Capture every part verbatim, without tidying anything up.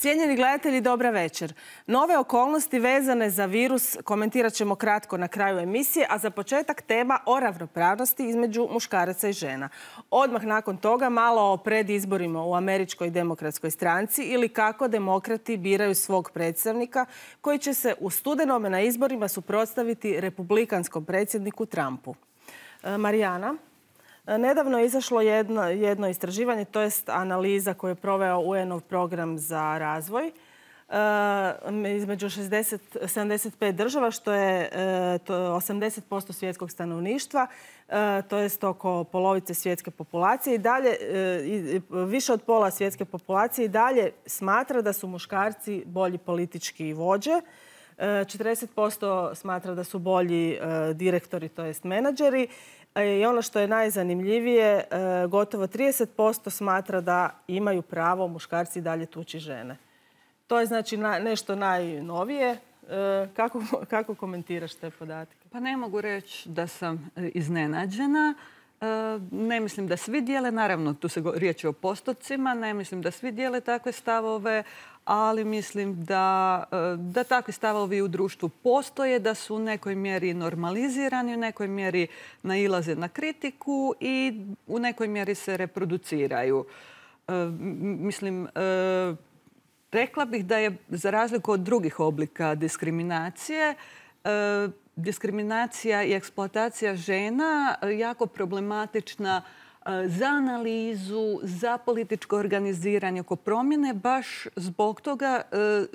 Cijenjeni gledatelji, dobra večer. Nove okolnosti vezane za virus komentirat ćemo kratko na kraju emisije, a za početak tema o ravnopravnosti između muškaraca i žena. Odmah nakon toga malo o predizborima u Američkoj demokratskoj stranci ili kako demokrati biraju svog predstavnika koji će se u studenome na izborima suprotstaviti republikanskom predsjedniku Trumpu. Marijana, nedavno je izašlo jedno, jedno istraživanje, to jest analiza koju je proveo U N-ov program za razvoj e, između šezdeset, sedamdeset pet država, što je e, to osamdeset posto svjetskog stanovništva, e, to jest oko polovice svjetske populacije. I dalje, e, više od pola svjetske populacije i dalje smatra da su muškarci bolji politički vođe. četrdeset posto smatra da su bolji e, direktori, to jest menadžeri. I ono što je najzanimljivije, gotovo trideset posto smatra da imaju pravo muškarci dalje tući žene. To je znači nešto najnovije. Kako, kako komentiraš te podatke? Pa ne mogu reći da sam iznenađena. Ne mislim da svi dijele, naravno tu se riječ o postocima, ne mislim da svi dijele takve stavove, ali mislim da, da takvi stavovi u društvu postoje, da su u nekoj mjeri normalizirani, u nekoj mjeri nailaze na kritiku i u nekoj mjeri se reproduciraju. Mislim, rekla bih da je za razliku od drugih oblika diskriminacije, diskriminacija i eksploatacija žena jako problematična za analizu, za političko organiziranje oko promjene, baš zbog toga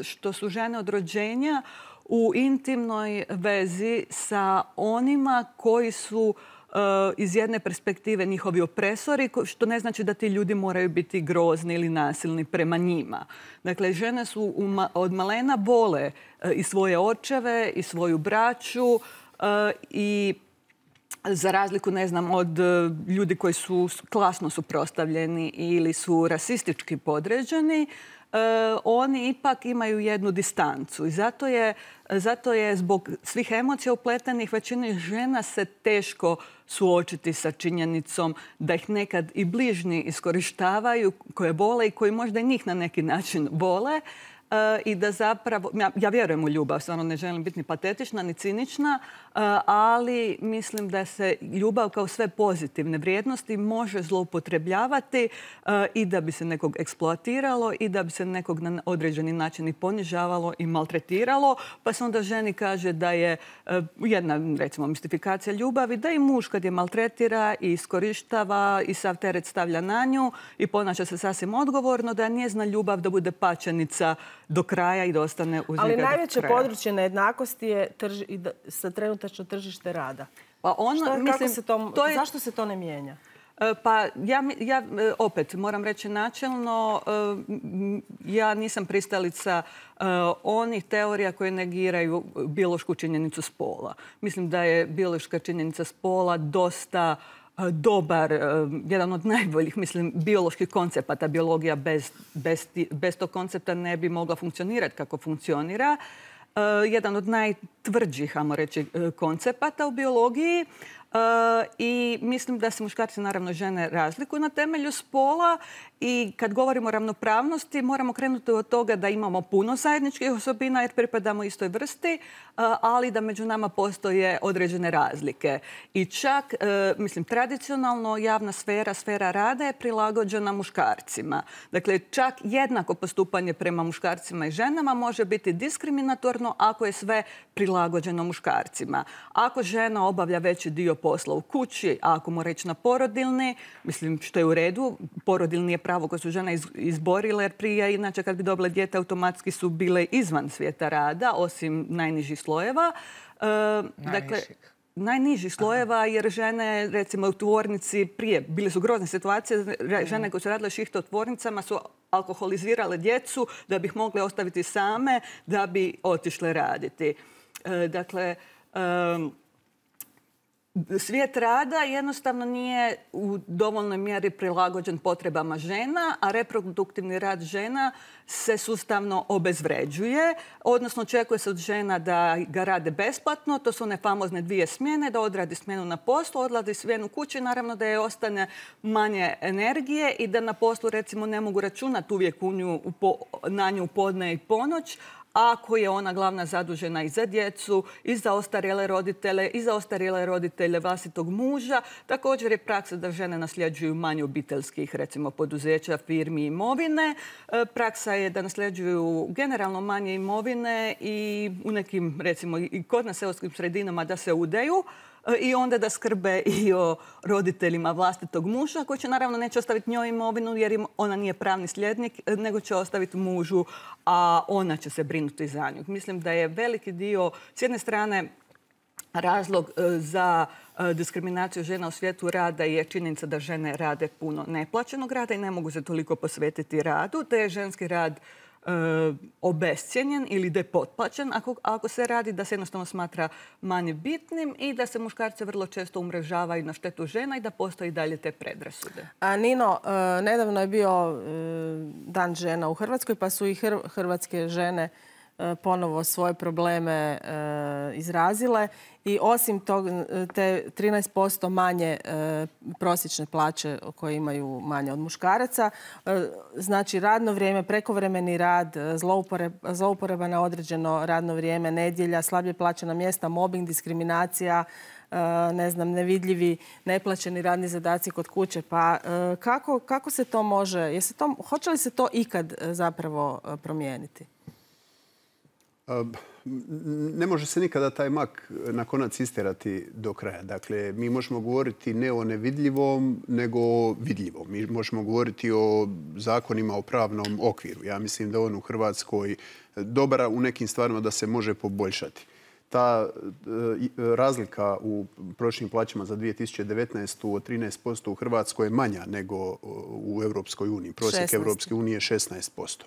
što su žene od rođenja u intimnoj vezi sa onima koji su iz jedne perspektive njihovi opresori, što ne znači da ti ljudi moraju biti grozni ili nasilni prema njima. Dakle, žene su od malena vole i svoje očeve i svoju braću i za razliku, ne znam, od ljudi koji su klasno suprotstavljeni ili su rasistički podređeni, oni ipak imaju jednu distancu. I zato je, zato je zbog svih emocija upletenih većini žena se teško suočiti sa činjenicom da ih nekad i bližnji iskorištavaju, koje vole i koji možda i njih na neki način vole. I da zapravo, ja, ja vjerujem u ljubav, stvarno ne želim biti ni patetična, ni cinična, ali mislim da se ljubav kao sve pozitivne vrijednosti može zloupotrebljavati i da bi se nekog eksploatiralo i da bi se nekog na određeni način i ponižavalo i maltretiralo. Pa se onda ženi kaže da je jedna, recimo, mistifikacija ljubavi, da i muž kad je maltretira i iskorištava i sav teret stavlja na nju i ponaša se sasvim odgovorno, da nije zna ljubav da bude pačenica do kraja i da ostane uz njega do kraja. Ali najveće područje nejednakosti je trži, sa trenutačno tržište rada. Pa ono, Što, mislim, kako se to, to je, zašto se to ne mijenja? Pa ja, ja opet moram reći načelno, ja nisam pristalica onih teorija koje negiraju biološku činjenicu spola. Mislim da je biološka činjenica spola dosta dobar, jedan od najboljih, mislim, bioloških koncepata. Biologija bez, bez, bez tog koncepta ne bi mogla funkcionirati kako funkcionira. Jedan od najtvrđih, ajmo reći, koncepata u biologiji. I mislim da se muškarci, naravno žene, razlikuju na temelju spola i kad govorimo o ravnopravnosti moramo krenuti od toga da imamo puno zajedničkih osobina jer pripadamo istoj vrsti, ali da među nama postoje određene razlike. I čak, mislim, tradicionalno javna sfera, sfera rada je prilagođena muškarcima. Dakle, čak jednako postupanje prema muškarcima i ženama može biti diskriminatorno ako je sve prilagođeno muškarcima. Ako žena obavlja veći dio posla u kući, a ako mu reći na porodilni, mislim što je u redu, porodilni je pravo koje su žene izborile, jer prije, inače kad bi dobile dijete, automatski su bile izvan svijeta rada, osim najnižih slojeva. E, dakle, najnižih slojeva, jer žene, recimo u tvornici prije, bile su grozne situacije, žene koje su radile šihte u tvornicama su alkoholizirale djecu da bi ih mogle ostaviti same, da bi otišle raditi. E, dakle, e, svijet rada jednostavno nije u dovoljnoj mjeri prilagođen potrebama žena, a reproduktivni rad žena se sustavno obezvređuje, odnosno očekuje se od žena da ga rade besplatno, to su one famozne dvije smjene, da odradi smjenu na poslu, odlazi smjenu kući, naravno da je ostane manje energije i da na poslu recimo ne mogu računati uvijek u nju, na nju podne i ponoć, ako je ona glavna zadužena i za djecu, i za ostarjele roditelje, i za ostarjele roditelje vlastitog muža. Također je praksa da žene nasljeđuju manje obiteljskih, recimo, poduzeća, firmi i imovine. Praksa je da nasljeđuju generalno manje imovine i u nekim, recimo, i kod nas seoskim sredinama da se udaju. I onda da skrbe i o roditeljima vlastitog muža, koji će naravno neće ostaviti njoj imovinu jer im ona nije pravni sljednik, nego će ostaviti mužu, a ona će se brinuti za nju. Mislim da je veliki dio, s jedne strane, razlog za diskriminaciju žena u svijetu rada je činjenica da žene rade puno neplaćenog rada i ne mogu se toliko posvetiti radu, te je ženski rad obescijenjen ili da je potplaćen ako, ako se radi, da se jednostavno smatra manje bitnim i da se muškarce vrlo često umrežavaju na štetu žena i da postoji dalje te predrasude. A Nino, nedavno je bio Dan žena u Hrvatskoj, pa su i hrvatske žene ponovo svoje probleme izrazile i osim tog, te trinaest posto manje prosječne plaće koje imaju manje od muškaraca, znači radno vrijeme, prekovremeni rad, zlouporaba na određeno radno vrijeme, nedjelja, slabije plaćena mjesta, mobbing, diskriminacija, ne znam, nevidljivi, neplaćeni radni zadaci kod kuće. Pa kako, kako se to može, je se to, hoće li se to ikad zapravo promijeniti? Ne može se nikada taj mak na konac isterati do kraja. Dakle, mi možemo govoriti ne o nevidljivom, nego o vidljivom. Mi možemo govoriti o zakonima, o pravnom okviru. Ja mislim da on u Hrvatskoj dobar u nekim stvarima da se može poboljšati. Ta razlika u prosječnim plaćama za dvije tisuće devetnaestu od trinaest posto u Hrvatskoj je manja nego u Europskoj uniji. Prosjek Europske unije je šesnaest posto.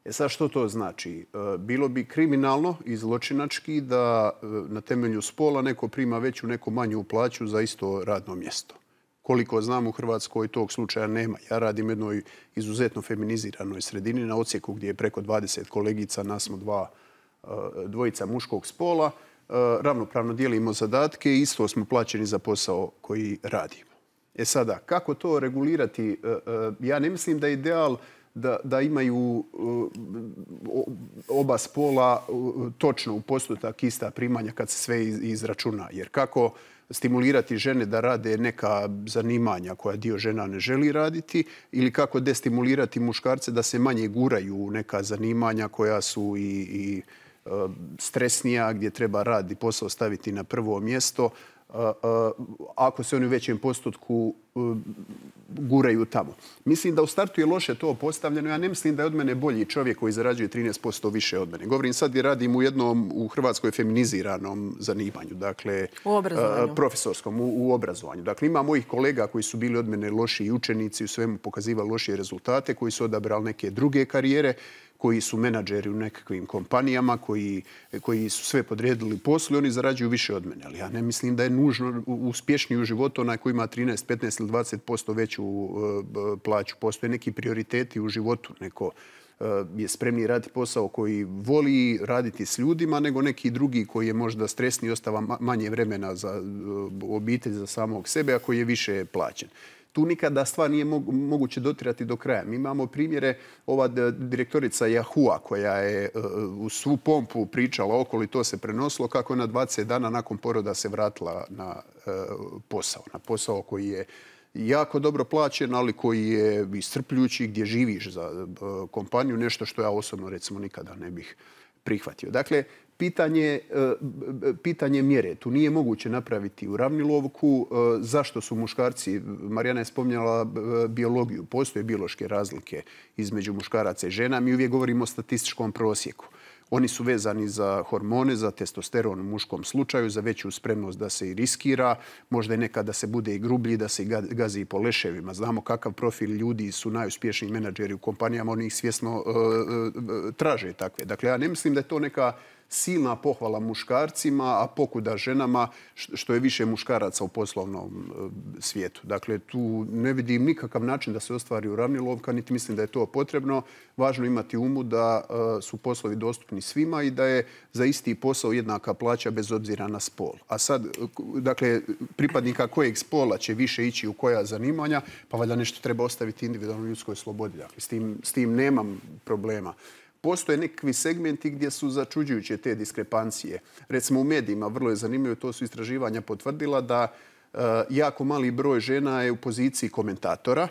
E sad, što to znači? Bilo bi kriminalno i zločinački da na temelju spola neko prima veću, neko manju plaću za isto radno mjesto. Koliko znam, u Hrvatskoj tog slučaja nema. Ja radim u jednoj izuzetno feminiziranoj sredini na odsjeku gdje je preko dvadeset kolegica, nas smo dva, dvojica muškog spola. Ravnopravno dijelimo zadatke i isto smo plaćeni za posao koji radimo. E sada, kako to regulirati? Ja ne mislim da je ideal Da, da imaju uh, oba spola uh, točno u postotak ista primanja kad se sve izračuna. Jer kako stimulirati žene da rade neka zanimanja koja dio žena ne želi raditi ili kako destimulirati muškarce da se manje guraju u neka zanimanja koja su i, i uh, stresnija, gdje treba rad i posao staviti na prvo mjesto. Uh, uh, ako se oni u većem postotku uh, guraju tamo. Mislim da u startu je loše to postavljeno. Ja ne mislim da je od mene bolji čovjek koji zarađuje trinaest posto više od mene. Govorim sad gdje radim u jednom u Hrvatskoj feminiziranom zanimanju. Dakle, u obrazovanju. Uh, profesorskom, u, u obrazovanju. Dakle, ima mojih kolega koji su bili od mene lošiji učenici, u svemu pokazivali lošije rezultate, koji su odabrali neke druge karijere, koji su menadžeri u nekakvim kompanijama, koji, koji su sve podredili poslu i oni zarađuju više od mene. Ali ja ne mislim da je nužno uspješniji u životu onaj koji ima trinaest, petnaest ili dvadeset posto veću uh, plaću. Postoje neki prioriteti u životu. Neko uh, je spremni raditi posao koji voli raditi s ljudima, nego neki drugi koji je možda stresni i ostava manje vremena za uh, obitelj, za samog sebe, a koji je više plaćen. Tu nikada stvar nije moguće dotirati do kraja. Mi imamo primjere, ova direktorica Yahoo-a koja je u svu pompu pričala okolo i to se prenosilo, kako je na dvadeset dana nakon poroda se vratila na posao. Na posao koji je jako dobro plaćen, ali koji je iscrpljujući, gdje živiš za kompaniju, nešto što ja osobno recimo nikada ne bih prihvatio. Dakle, Pitanje, pitanje mjere. Tu nije moguće napraviti uravnilovku. Zašto su muškarci, Marijana je spominjala biologiju, postoje biološke razlike između muškaraca i žena. Mi uvijek govorimo o statističkom prosjeku. Oni su vezani za hormone, za testosteron u muškom slučaju, za veću spremnost da se i riskira. Možda je nekad da se bude i grublji, da se i gazi po leševima. Znamo kakav profil ljudi su najuspješniji menadžeri u kompanijama. Oni ih svjesno uh, uh, traže takve. Dakle, ja ne mislim da je to neka silna pohvala muškarcima, a pokuda ženama što je više muškaraca u poslovnom svijetu. Dakle, tu ne vidim nikakav način da se ostvari uravnilovka, niti mislim da je to potrebno. Važno imati umu da su poslovi dostupni svima i da je za isti posao jednaka plaća bez obzira na spol. A sad, dakle, pripadnika kojeg spola će više ići u koja zanimanja, pa valjda nešto treba ostaviti individualnoj ljudskoj slobodi. Dakle, s tim, s tim nemam problema. Postoje nekakvi segmenti gdje su začuđujuće te diskrepancije. Recimo u medijima, vrlo je zanimljivo, to su istraživanja potvrdila da uh, jako mali broj žena je u poziciji komentatora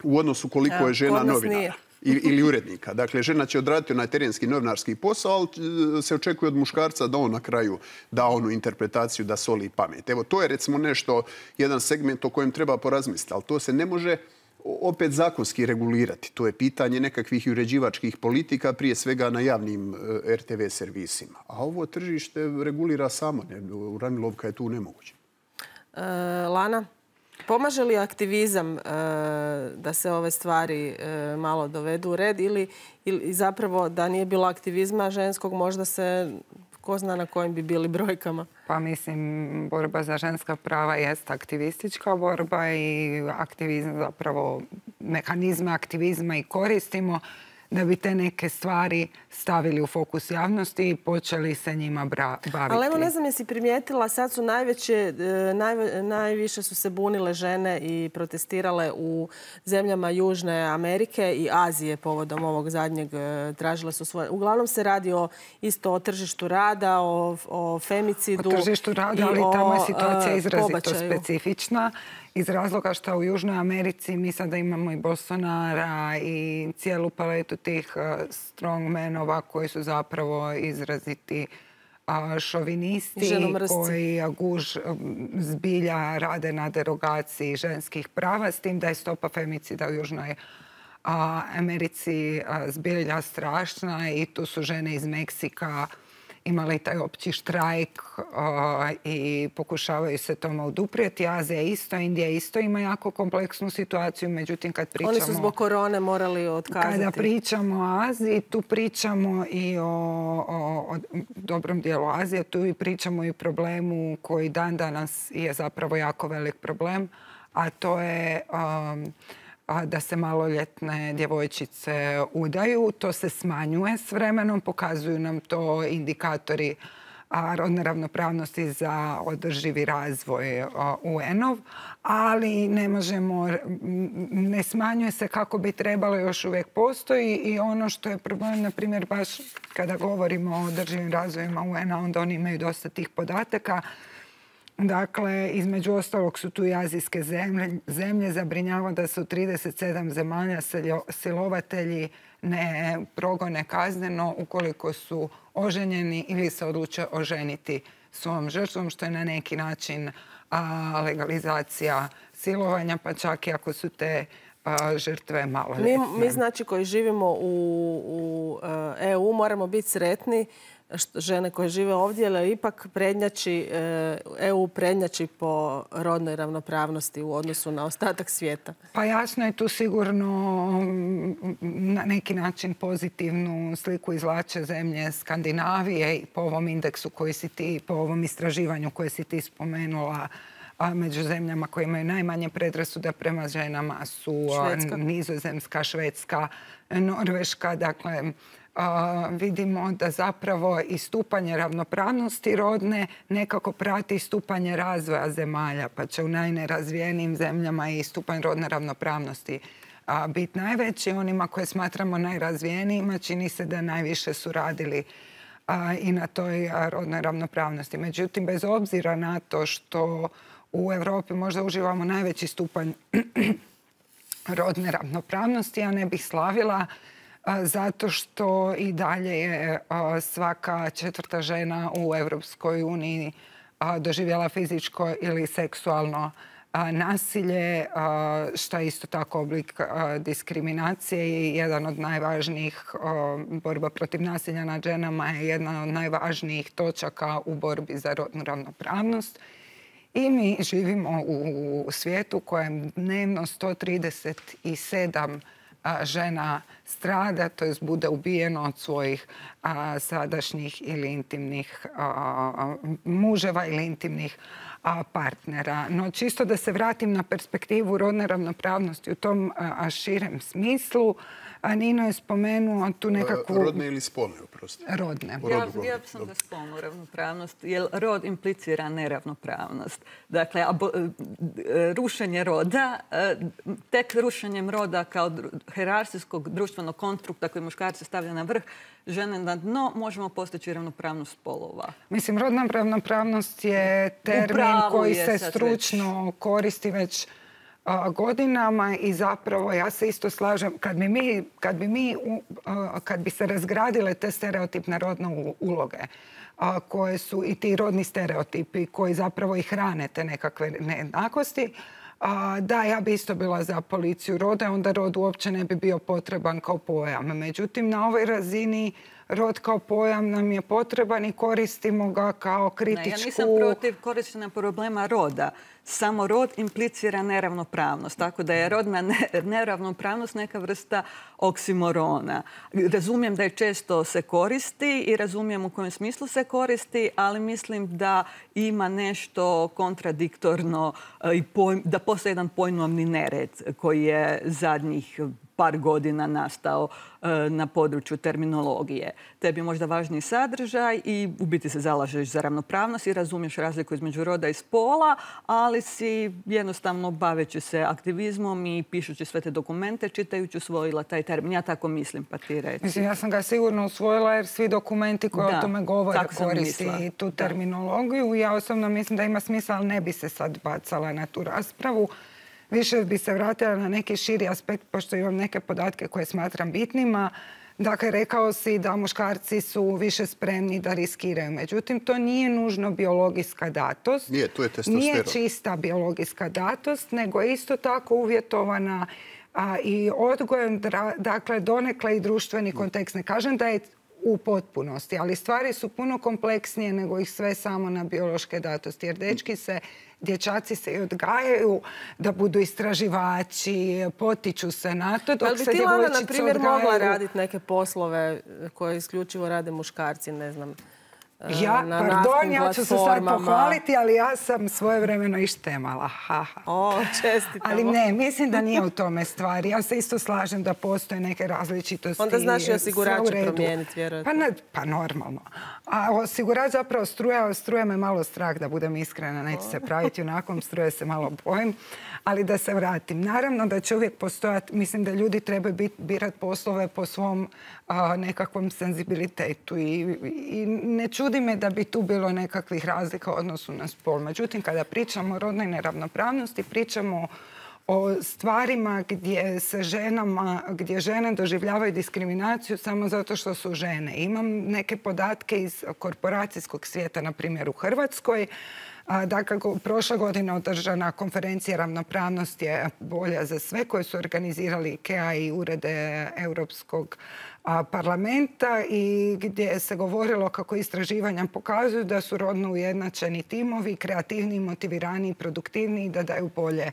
u odnosu koliko je žena novinara ili urednika. Dakle, žena će odraditi onaj terenski novinarski posao, ali se očekuje od muškarca da on na kraju da onu interpretaciju, da soli pamet. Evo, to je recimo nešto, jedan segment o kojem treba porazmisliti, ali to se ne može opet zakonski regulirati. To je pitanje nekakvih uređivačkih politika, prije svega na javnim er te ve servisima. A ovo tržište regulira samo. Uravnilovka je tu nemoguća. E, Lana, pomaže li aktivizam e, da se ove stvari e, malo dovedu u red ili, ili zapravo da nije bilo aktivizma ženskog možda se ko zna na kojim bi bili brojkama? Pa mislim, borba za ženska prava jest aktivistička borba i aktivizam zapravo mehanizme aktivizma i koristimo da bi te neke stvari stavili u fokus javnosti i počeli se njima baviti. Ali evo ne znam jesi primijetila, sad su najveće, naj, najviše su se bunile žene i protestirale u zemljama Južne Amerike i Azije povodom ovog zadnjeg, tražile su svoje. Uglavnom se radi o, isto o tržištu rada, o, o femicidu. O tržištu rada, ali tamo je situacija izrazito specifična. Iz razloga što u Južnoj Americi mi sada imamo i Bolsonara i cijelu paletu tih strongmenova koji su zapravo izraziti šovinisti koji guž zbilja rade na derogaciji ženskih prava, s tim da je stopa femicida u Južnoj Americi zbilja strašna i tu su žene iz Meksika imali taj opći štrajk uh, i pokušavaju se tome oduprijeti. Azija isto, Indija isto ima jako kompleksnu situaciju. Međutim, kad pričamo... Oni su zbog korone morali otkazati. Kada pričamo o Aziji, tu pričamo i o, o, o dobrom dijelu Azije. Tu i pričamo i o problemu koji dan danas je zapravo jako velik problem, a to je... Um, da se maloljetne djevojčice udaju. To se smanjuje s vremenom, pokazuju nam to indikatori rodne ravnopravnosti za održivi razvoj U en-ov, ali ne možemo, ne smanjuje se kako bi trebalo, još uvijek postoji i ono što je problem, na primjer, baš kada govorimo o održivim razvojima U en-a, onda oni imaju dosta tih podataka. Dakle, između ostalog su tu i azijske zemlje. Zemlje zabrinjava da su trideset sedam zemalja silovatelji ne progone kazneno ukoliko su oženjeni ili se odluče oženiti svojom žrtvom, što je na neki način a, legalizacija silovanja, pa čak i ako su te a, žrtve maloljetne. Mi, mi znači koji živimo u, u E U moramo biti sretni žene koje žive ovdje, ali ipak prednjači, E U prednjači po rodnoj ravnopravnosti u odnosu na ostatak svijeta. Pa jasno je tu sigurno na neki način pozitivnu sliku izvlače zemlje Skandinavije i po ovom indeksu koji si ti, po ovom istraživanju koje si ti spomenula, a među zemljama koje imaju najmanje predrasuda prema ženama su Švedska. Nizozemska, Švedska, Norveška. Dakle, Uh, vidimo da zapravo i stupanje ravnopravnosti rodne nekako prati stupanje razvoja zemalja, pa će u najnerazvijenijim zemljama i stupanj rodne ravnopravnosti uh, biti najveći. Onima koje smatramo najrazvijenijima čini se da najviše su radili uh, i na toj rodnoj ravnopravnosti. Međutim, bez obzira na to što u Europi možda uživamo najveći stupanj rodne ravnopravnosti, ja ne bih slavila zato što i dalje je svaka četvrta žena u Europskoj uniji doživjela fizičko ili seksualno nasilje, što je isto tako oblik diskriminacije i jedan od najvažnijih borba protiv nasilja nad ženama je jedna od najvažnijih točaka u borbi za rodnu ravnopravnost. I mi živimo u svijetu kojem dnevno sto trideset sedam žena strada, to jest bude ubijeno od svojih sadašnjih ili intimnih muževa ili intimnih partnera. No čisto da se vratim na perspektivu rodne ravnopravnosti u tom širem smislu, Nino je spomenuo tu nekakvu... Rodne ili spolne, oprosti? Rodne. Ja, ja sam za spolnu ravnopravnost, jer rod implicira neravnopravnost. Dakle, rušenje roda, tek rušenjem roda kao hijerarhijskog društvenog konstrukta koji muškarci stavlja na vrh, žene na dno, možemo postići ravnopravnost spolova. Mislim, rodna ravnopravnost je termin koji se stručno koristi već godinama i zapravo ja se isto slažem kad bi mi, kad bi mi, kad bi se razgradile te stereotipne rodne uloge koje su i ti rodni stereotipi koji zapravo i hrane te nekakve nejednakosti, da, ja bi isto bila za policiju roda, onda rod uopće ne bi bio potreban kao pojam. Međutim, na ovoj razini rod kao pojam nam je potreban i koristimo ga kao kritičku... Ne, ja nisam protiv korištenja problema roda. Samo rod implicira neravnopravnost. Tako da je rodna neravnopravnost neka vrsta oksimorona. Razumijem da je često se koristi i razumijem u kojem smislu se koristi, ali mislim da ima nešto kontradiktorno i da postoji jedan pojmovni nered koji je zadnjih par godina nastao na području terminologije. Tebi je možda važniji sadržaj i u biti se zalažeš za ravnopravnost i razumiješ razliku između roda i spola, ali si jednostavno baveći se aktivizmom i pišući sve te dokumente, čitajući usvojila taj termin. Ja tako mislim, pa ti reći. Mislim, ja sam ga sigurno usvojila jer svi dokumenti koji da, o tome govore koristi tu terminologiju. Da. Ja osobno mislim da ima smisla, ali ne bi se sad bacala na tu raspravu. Više bi se vratila na neki širi aspekt, pošto imam neke podatke koje smatram bitnima. Dakle, rekao si da muškarci su više spremni da riskiraju. Međutim, to nije nužno biologijska datost. Nije, to je testosteron. Nije čista biologijska datost, nego je isto tako uvjetovana a, i odgojem, dakle, donekle i društveni kontekst. Ne kažem da je u potpunosti, ali stvari su puno kompleksnije nego ih sve samo na biološke datosti. Jer dečki se, dječaci se i odgajaju da budu istraživači, potiču se na to, dok se djevojčice odgajaju... Ali bi ti, Lana, na primjer, mogla raditi neke poslove koje isključivo rade muškarci, ne znam, ja, na pardon, ja ću se sad pohvaliti, ali ja sam svojevremeno i štemala. Ha, ha. O, čestitamo. Ali ne, mislim da nije u tome stvari. Ja se isto slažem da postoje neke različitosti. Onda znaš i osigurače promijeniti, vjerojatno. Pa, ne, pa normalno. A osigurač zapravo struja, struje me malo strah, da budem iskrena. Neću se praviti junakom, struje se malo bojim. Ali da se vratim. Naravno da će uvijek postojati, mislim da ljudi trebaju birati poslove po svom a, nekakvom senzibilitetu. I, i ne čudi me da bi tu bilo nekakvih razlika u odnosu na spol. Međutim, kada pričamo o rodnoj neravnopravnosti, pričamo o stvarima gdje se ženama, gdje žene doživljavaju diskriminaciju samo zato što su žene. Imam neke podatke iz korporacijskog svijeta, na primjer u Hrvatskoj. Dakle, prošle godine održana konferencija ravnopravnost je bolja za sve koje su organizirali IKEA i urede Europskog parlamenta i gdje se govorilo kako istraživanja pokazuju da su rodno ujednačeni timovi, kreativniji, motiviraniji, produktivniji, da daju bolje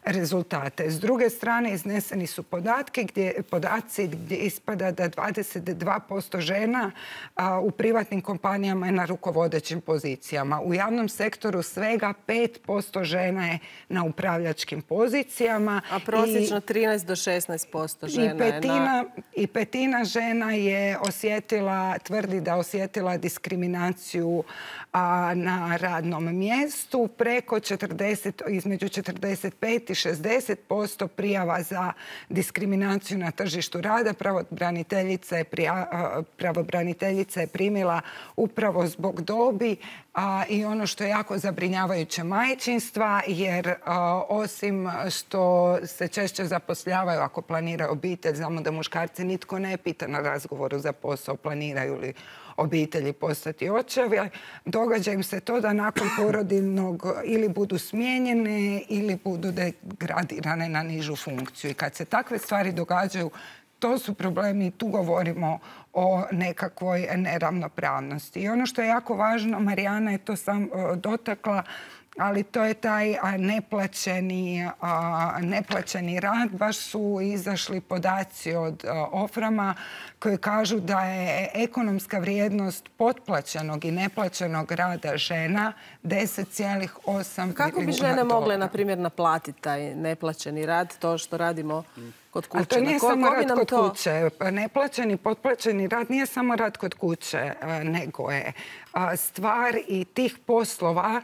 rezultate. S druge strane, izneseni su podatke gdje, podaci gdje ispada da dvadeset dva posto žena a, u privatnim kompanijama je na rukovodećim pozicijama. U javnom sektoru svega pet posto žena je na upravljačkim pozicijama. A prosječno trinaest do šesnaest posto žena i petina, je na... I petina žena je osjetila, tvrdi da osjetila diskriminaciju a, na radnom mjestu. Preko četrdeset, između četrdeset pet i šezdeset posto prijava za diskriminaciju na tržištu rada pravobraniteljica je, prija, pravobraniteljica je primila upravo zbog dobi a, i ono što je jako zabrinjavajuće majčinstva, jer a, osim što se češće zapošljavaju ako planiraju obitelj, znamo da muškarci nitko ne pita na razgovoru za posao planiraju li obitelji postati očevi. Događa im se to da nakon porodiljnog ili budu smijenjene ili budu degradirane na nižu funkciju. I kad se takve stvari događaju, to su problemi, tu govorimo o nekakvoj neravnopravnosti. I ono što je jako važno, Marijana je to sam dotakla, ali to je taj neplaćeni, neplaćeni rad. Baš su izašli podaci od Oframa koji kažu da je ekonomska vrijednost potplaćenog i neplaćenog rada žena deset zarez osam milijuna dolara. Kako bi žene mogle, na primjer, naplatiti taj neplaćeni rad, to što radimo kod kuće? Ali to nije samo rad kod kuće. Neplaćeni, potplaćeni rad nije samo rad kod kuće, nego je stvar i tih poslova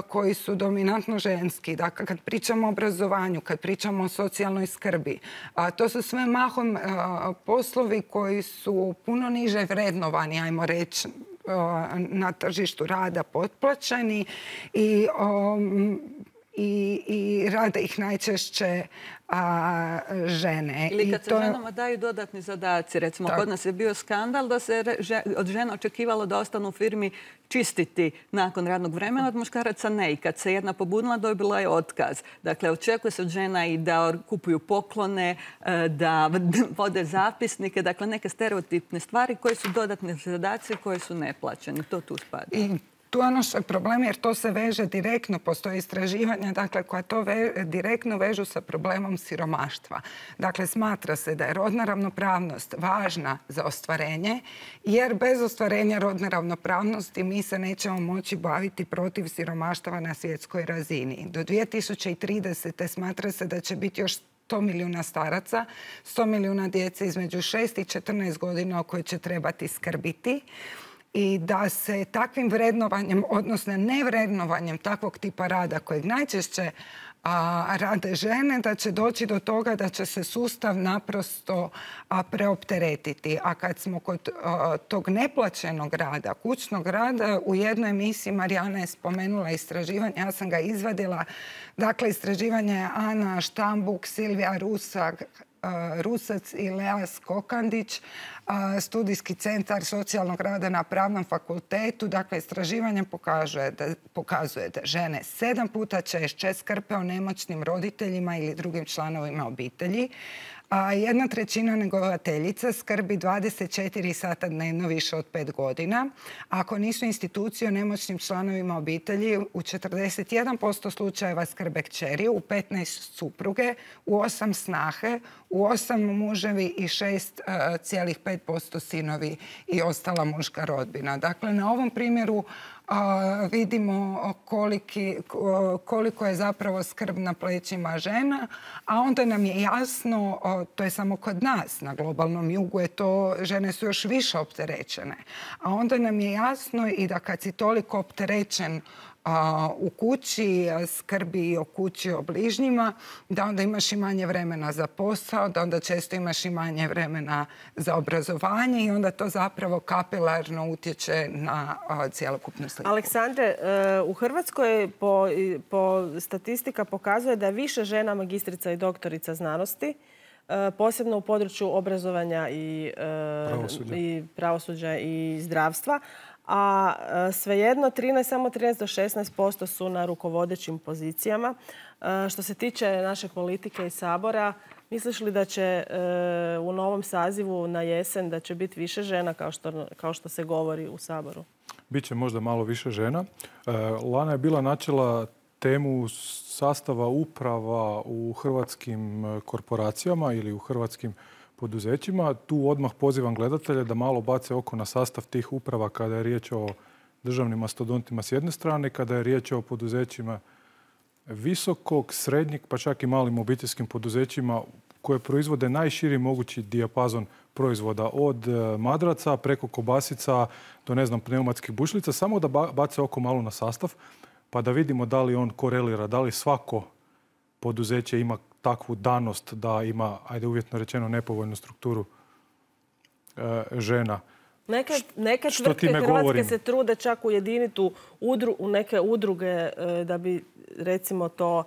koji su dominantno ženski. Dakle, kad pričamo o obrazovanju, kad pričamo o socijalnoj skrbi, to su sve mahom poslovi koji su puno niže vrednovani, ajmo reći, na tržištu rada, potplaćeni i, um, i, i rade ih najčešće a, žene. Ili kad I se to... ženama daju dodatni zadaci. Recimo, tako. Kod nas je bio skandal da se od žena očekivalo da ostanu u firmi čistiti nakon radnog vremena, od muškaraca ne. I kad se jedna pobunila, dobila je otkaz. Dakle, očekuje se od žena i da kupuju poklone, da vode zapisnike, dakle neke stereotipne stvari koje su dodatne zadaci koje su neplaćene. To tu spada. I... Tu je ono što je problem jer to se veže direktno, postoje istraživanja dakle, koja to ve, direktno vežu sa problemom siromaštva. Dakle, smatra se da je rodna ravnopravnost važna za ostvarenje jer bez ostvarenja rodne ravnopravnosti mi se nećemo moći baviti protiv siromaštva na svjetskoj razini. Do dvije tisuće tridesete smatra se da će biti još sto milijuna staraca, sto milijuna djece između šest i četrnaest godina o kojoj će trebati skrbiti. I da se takvim vrednovanjem, odnosno nevrednovanjem takvog tipa rada kojeg najčešće a, rade žene, da će doći do toga da će se sustav naprosto a, preopteretiti. A kad smo kod a, tog neplaćenog rada, kućnog rada, u jednoj emisiji Marijana je spomenula istraživanje, ja sam ga izvadila. Dakle, istraživanje je Ana Štambuk, Silvija Rusak, Rusac i Lea Skokandić, studijski centar socijalnog rada na Pravnom fakultetu. Dakle, istraživanje pokazuje da, pokazuje da žene sedam puta češće skrbe o nemoćnim roditeljima ili drugim članovima obitelji. A jedna trećina njegovateljica skrbi dvadeset četiri sata dnevno više od pet godina. Ako nisu institucije o nemoćnim članovima obitelji, u četrdeset jedan posto slučajeva skrbe kćeri, u petnaest supruge, u osam snahe, u osam muževi i šest zarez pet posto sinovi i ostala muška rodbina. Dakle, na ovom primjeru a, vidimo koliki, koliko je zapravo skrb na plećima žena, a onda nam je jasno, a, to je samo kod nas, na globalnom jugu je to, žene su još više opterećene. A onda nam je jasno i da kad si toliko opterećen a, u kući, skrbi o kući, o bližnjima, da onda imaš i manje vremena za posao, da onda često imaš i manje vremena za obrazovanje i onda to zapravo kapilarno utječe na a, cjelokupnu sliku. Aleksandre, u Hrvatskoj po, po statistika pokazuje da je više žena magistrica i doktorica znanosti, posebno u području obrazovanja i pravosuđa i, pravosuđa i zdravstva. A svejedno trinaest, samo trinaest do šesnaest posto su na rukovodećim pozicijama. Što se tiče naše politike i Sabora, misliš li da će u novom sazivu na jesen da će biti više žena kao što, kao što se govori u Saboru? Biće možda malo više žena. Lana je bila načela temu sastava uprava u hrvatskim korporacijama ili u hrvatskim poduzećima. Tu odmah pozivam gledatelje da malo bace oko na sastav tih uprava kada je riječ o državnim mastodontima s jedne strane, kada je riječ o poduzećima visokog, srednjeg, pa čak i malim obiteljskim poduzećima koje proizvode najširi mogući dijapazon proizvoda od madraca preko kobasica do, ne znam, pneumatskih bušlica. Samo da bace oko malo na sastav pa da vidimo da li on korelira, da li svako poduzeće ima takvu danost da ima, ajde uvjetno rečeno, nepovoljnu strukturu e, žena. Neke, neke Što tvrtke Hrvatske govorim? se trude čak ujediniti u, udru, u neke udruge e, da bi, recimo, to,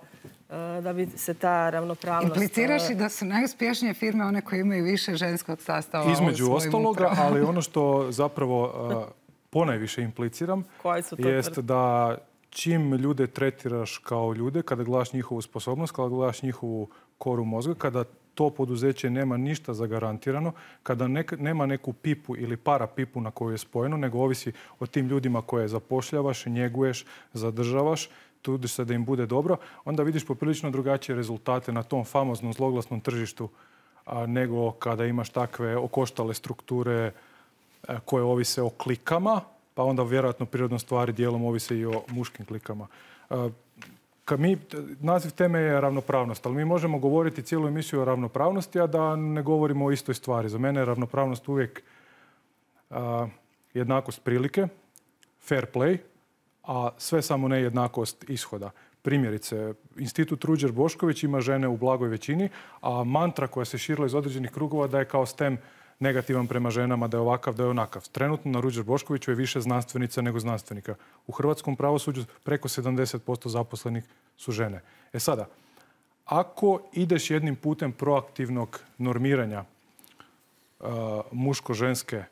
e, da bi se ta ravnopravnost... Impliciraš i da su najuspješnije firme one koje imaju više ženskog sastava Između u svojim ostaloga, upravama. ali ono što zapravo e, ponajviše impliciram jest da čim ljude tretiraš kao ljude, kada gledaš njihovu sposobnost, kada gledaš njihovu koru mozga, kada to poduzeće nema ništa zagarantirano, kada ne, nema neku pipu ili para pipu na koju je spojeno, nego ovisi o tim ljudima koje zapošljavaš, njeguješ, zadržavaš, trudiš se da im bude dobro, onda vidiš poprilično drugačije rezultate na tom famoznom zloglasnom tržištu nego kada imaš takve okoštale strukture koje ovise o klikama, pa onda vjerojatno prirodno stvari dijelom ovise i o muškim klikama. Mi, naziv teme je ravnopravnost, ali mi možemo govoriti cijelu emisiju o ravnopravnosti, a da ne govorimo o istoj stvari. Za mene je ravnopravnost uvijek a, jednakost prilike, fair play, a sve samo ne jednakost ishoda. Primjerice, Institut Ruđer Bošković ima žene u blagoj većini, a mantra koja se širila iz određenih krugova da je kao stem negativan prema ženama, da je ovakav, da je onakav. Trenutno na Ruđer Boškoviću je više znanstvenica nego znanstvenika. U hrvatskom pravosuđu preko sedamdeset posto zaposlenih su žene. E sada, ako ideš jednim putem proaktivnog normiranja uh, muško-ženske,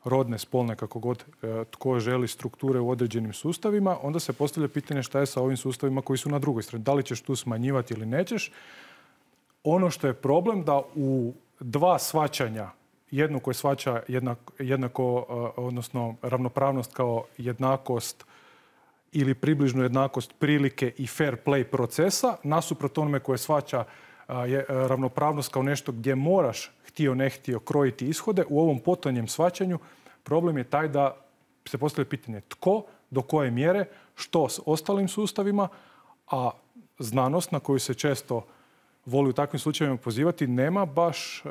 rodne, spolne, kako god uh, tko želi strukture u određenim sustavima, onda se postavlja pitanje šta je sa ovim sustavima koji su na drugoj strani. Da li ćeš tu smanjivati ili nećeš? Ono što je problem da u dva shvaćanja, jedno koje shvaća jednako, jednako, odnosno ravnopravnost kao jednakost ili približnu jednakost prilike i fair play procesa, nasuprot onome koje shvaća ravnopravnost kao nešto gdje moraš, htio ne htio, krojiti ishode. U ovom potonjem shvaćanju problem je taj da se postavlja pitanje tko, do koje mjere, što s ostalim sustavima, a znanost na koju se često voli u takvim slučajevima pozivati nema baš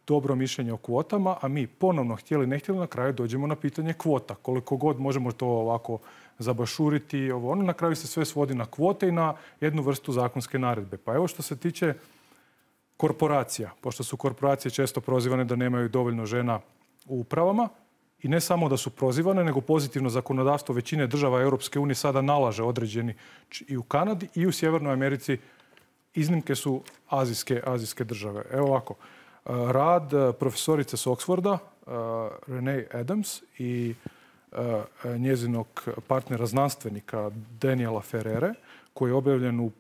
dobro mišljenje o kvotama, a mi ponovno htjeli ne htjeli na kraju dođemo na pitanje kvota. Koliko god možemo to ovako zabašuriti, ovo, ono na kraju se sve svodi na kvote i na jednu vrstu zakonske naredbe. Pa evo što se tiče korporacija, pošto su korporacije često prozivane da nemaju dovoljno žena u upravama i ne samo da su prozivane, nego pozitivno zakonodavstvo većine država Europske unije sada nalaže određeni i u Kanadi i u Sjevernoj Americi. Iznimke su azijske, azijske države. Evo ovako. Rad profesorice s Oxforda, Renee Adams i njezinog partnera znanstvenika Daniela Ferrere, koji je objavljen u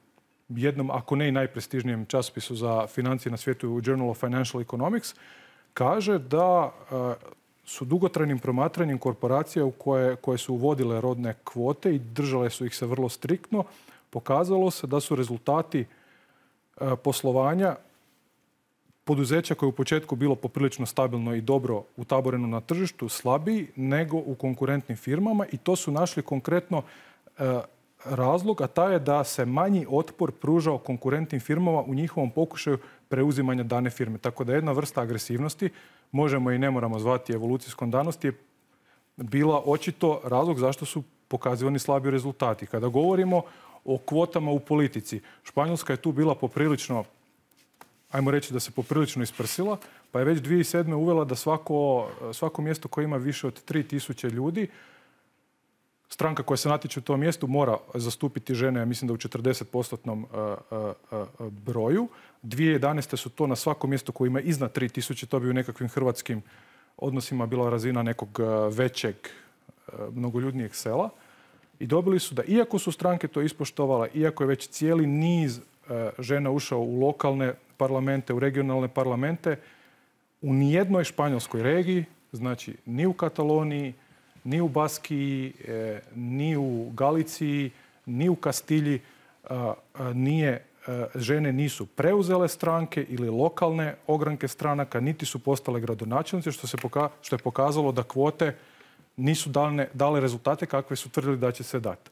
jednom, ako ne i najprestižnijem časopisu za financije na svijetu, u Journal of Financial Economics, kaže da su dugotrajnim promatranjem korporacija u koje, koje su uvodile rodne kvote i držale su ih se vrlo striktno, pokazalo se da su rezultati poslovanja poduzeća koje je u početku bilo poprilično stabilno i dobro utaboreno na tržištu slabiji nego u konkurentnim firmama i to su našli konkretno e, razlog, a taj je da se manji otpor pružao konkurentnim firmama u njihovom pokušaju preuzimanja dane firme. Tako da jedna vrsta agresivnosti, možemo i ne moramo zvati evolucijskom danosti, je bila očito razlog zašto su pokazivani slabi rezultati. Kada govorimo o kvotama u politici, Španjolska je tu bila poprilično, ajmo reći da se poprilično isprsila, pa je već dvije tisuće sedme uvela da svako, svako mjesto koje ima više od tri tisuće ljudi, stranka koja se natječe u tom mjestu mora zastupiti žene, ja mislim da u četrdeset postotnom broju. dvije tisuće jedanaeste su to na svakom mjestu koje ima iznad tri tisuće, to bi u nekakvim hrvatskim odnosima bila razina nekog većeg, mnogoljudnijeg sela. I dobili su da, iako su stranke to ispoštovale, iako je već cijeli niz žena ušao u lokalne parlamente, u regionalne parlamente, u nijednoj španjolskoj regiji, znači ni u Kataloniji, ni u Baskiji, ni u Galiciji, ni u Kastilji, nije, žene nisu preuzele stranke ili lokalne ogranke stranaka, niti su postale gradonačelnice, što, se poka- što je pokazalo da kvote nisu dale, dale rezultate kakve su tvrdili da će se dati.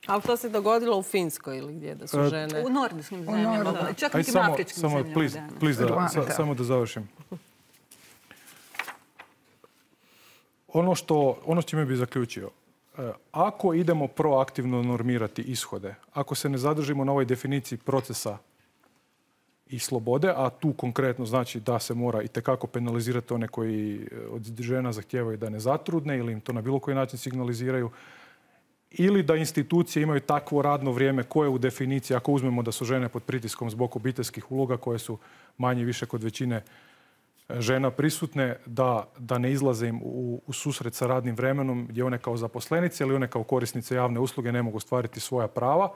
Ali to se dogodilo u Finskoj ili gdje da su žene? U nordijskim zemljama, da. Čak i tim afričkim samo, zemljama. Please, please da, sa, samo da završim. Ono što, ono s čime bih zaključio, ako idemo proaktivno normirati ishode, ako se ne zadržimo na ovoj definiciji procesa i slobode, a tu konkretno znači da se mora itekako penalizirati one koji od žena zahtijevaju da ne zatrudne ili im to na bilo koji način signaliziraju, ili da institucije imaju takvo radno vrijeme koje u definiciji, ako uzmemo da su žene pod pritiskom zbog obiteljskih uloga koje su manje više kod većine žena prisutne, da, da ne izlaze im u, u susret sa radnim vremenom gdje one kao zaposlenice ili one kao korisnice javne usluge ne mogu ostvariti svoja prava.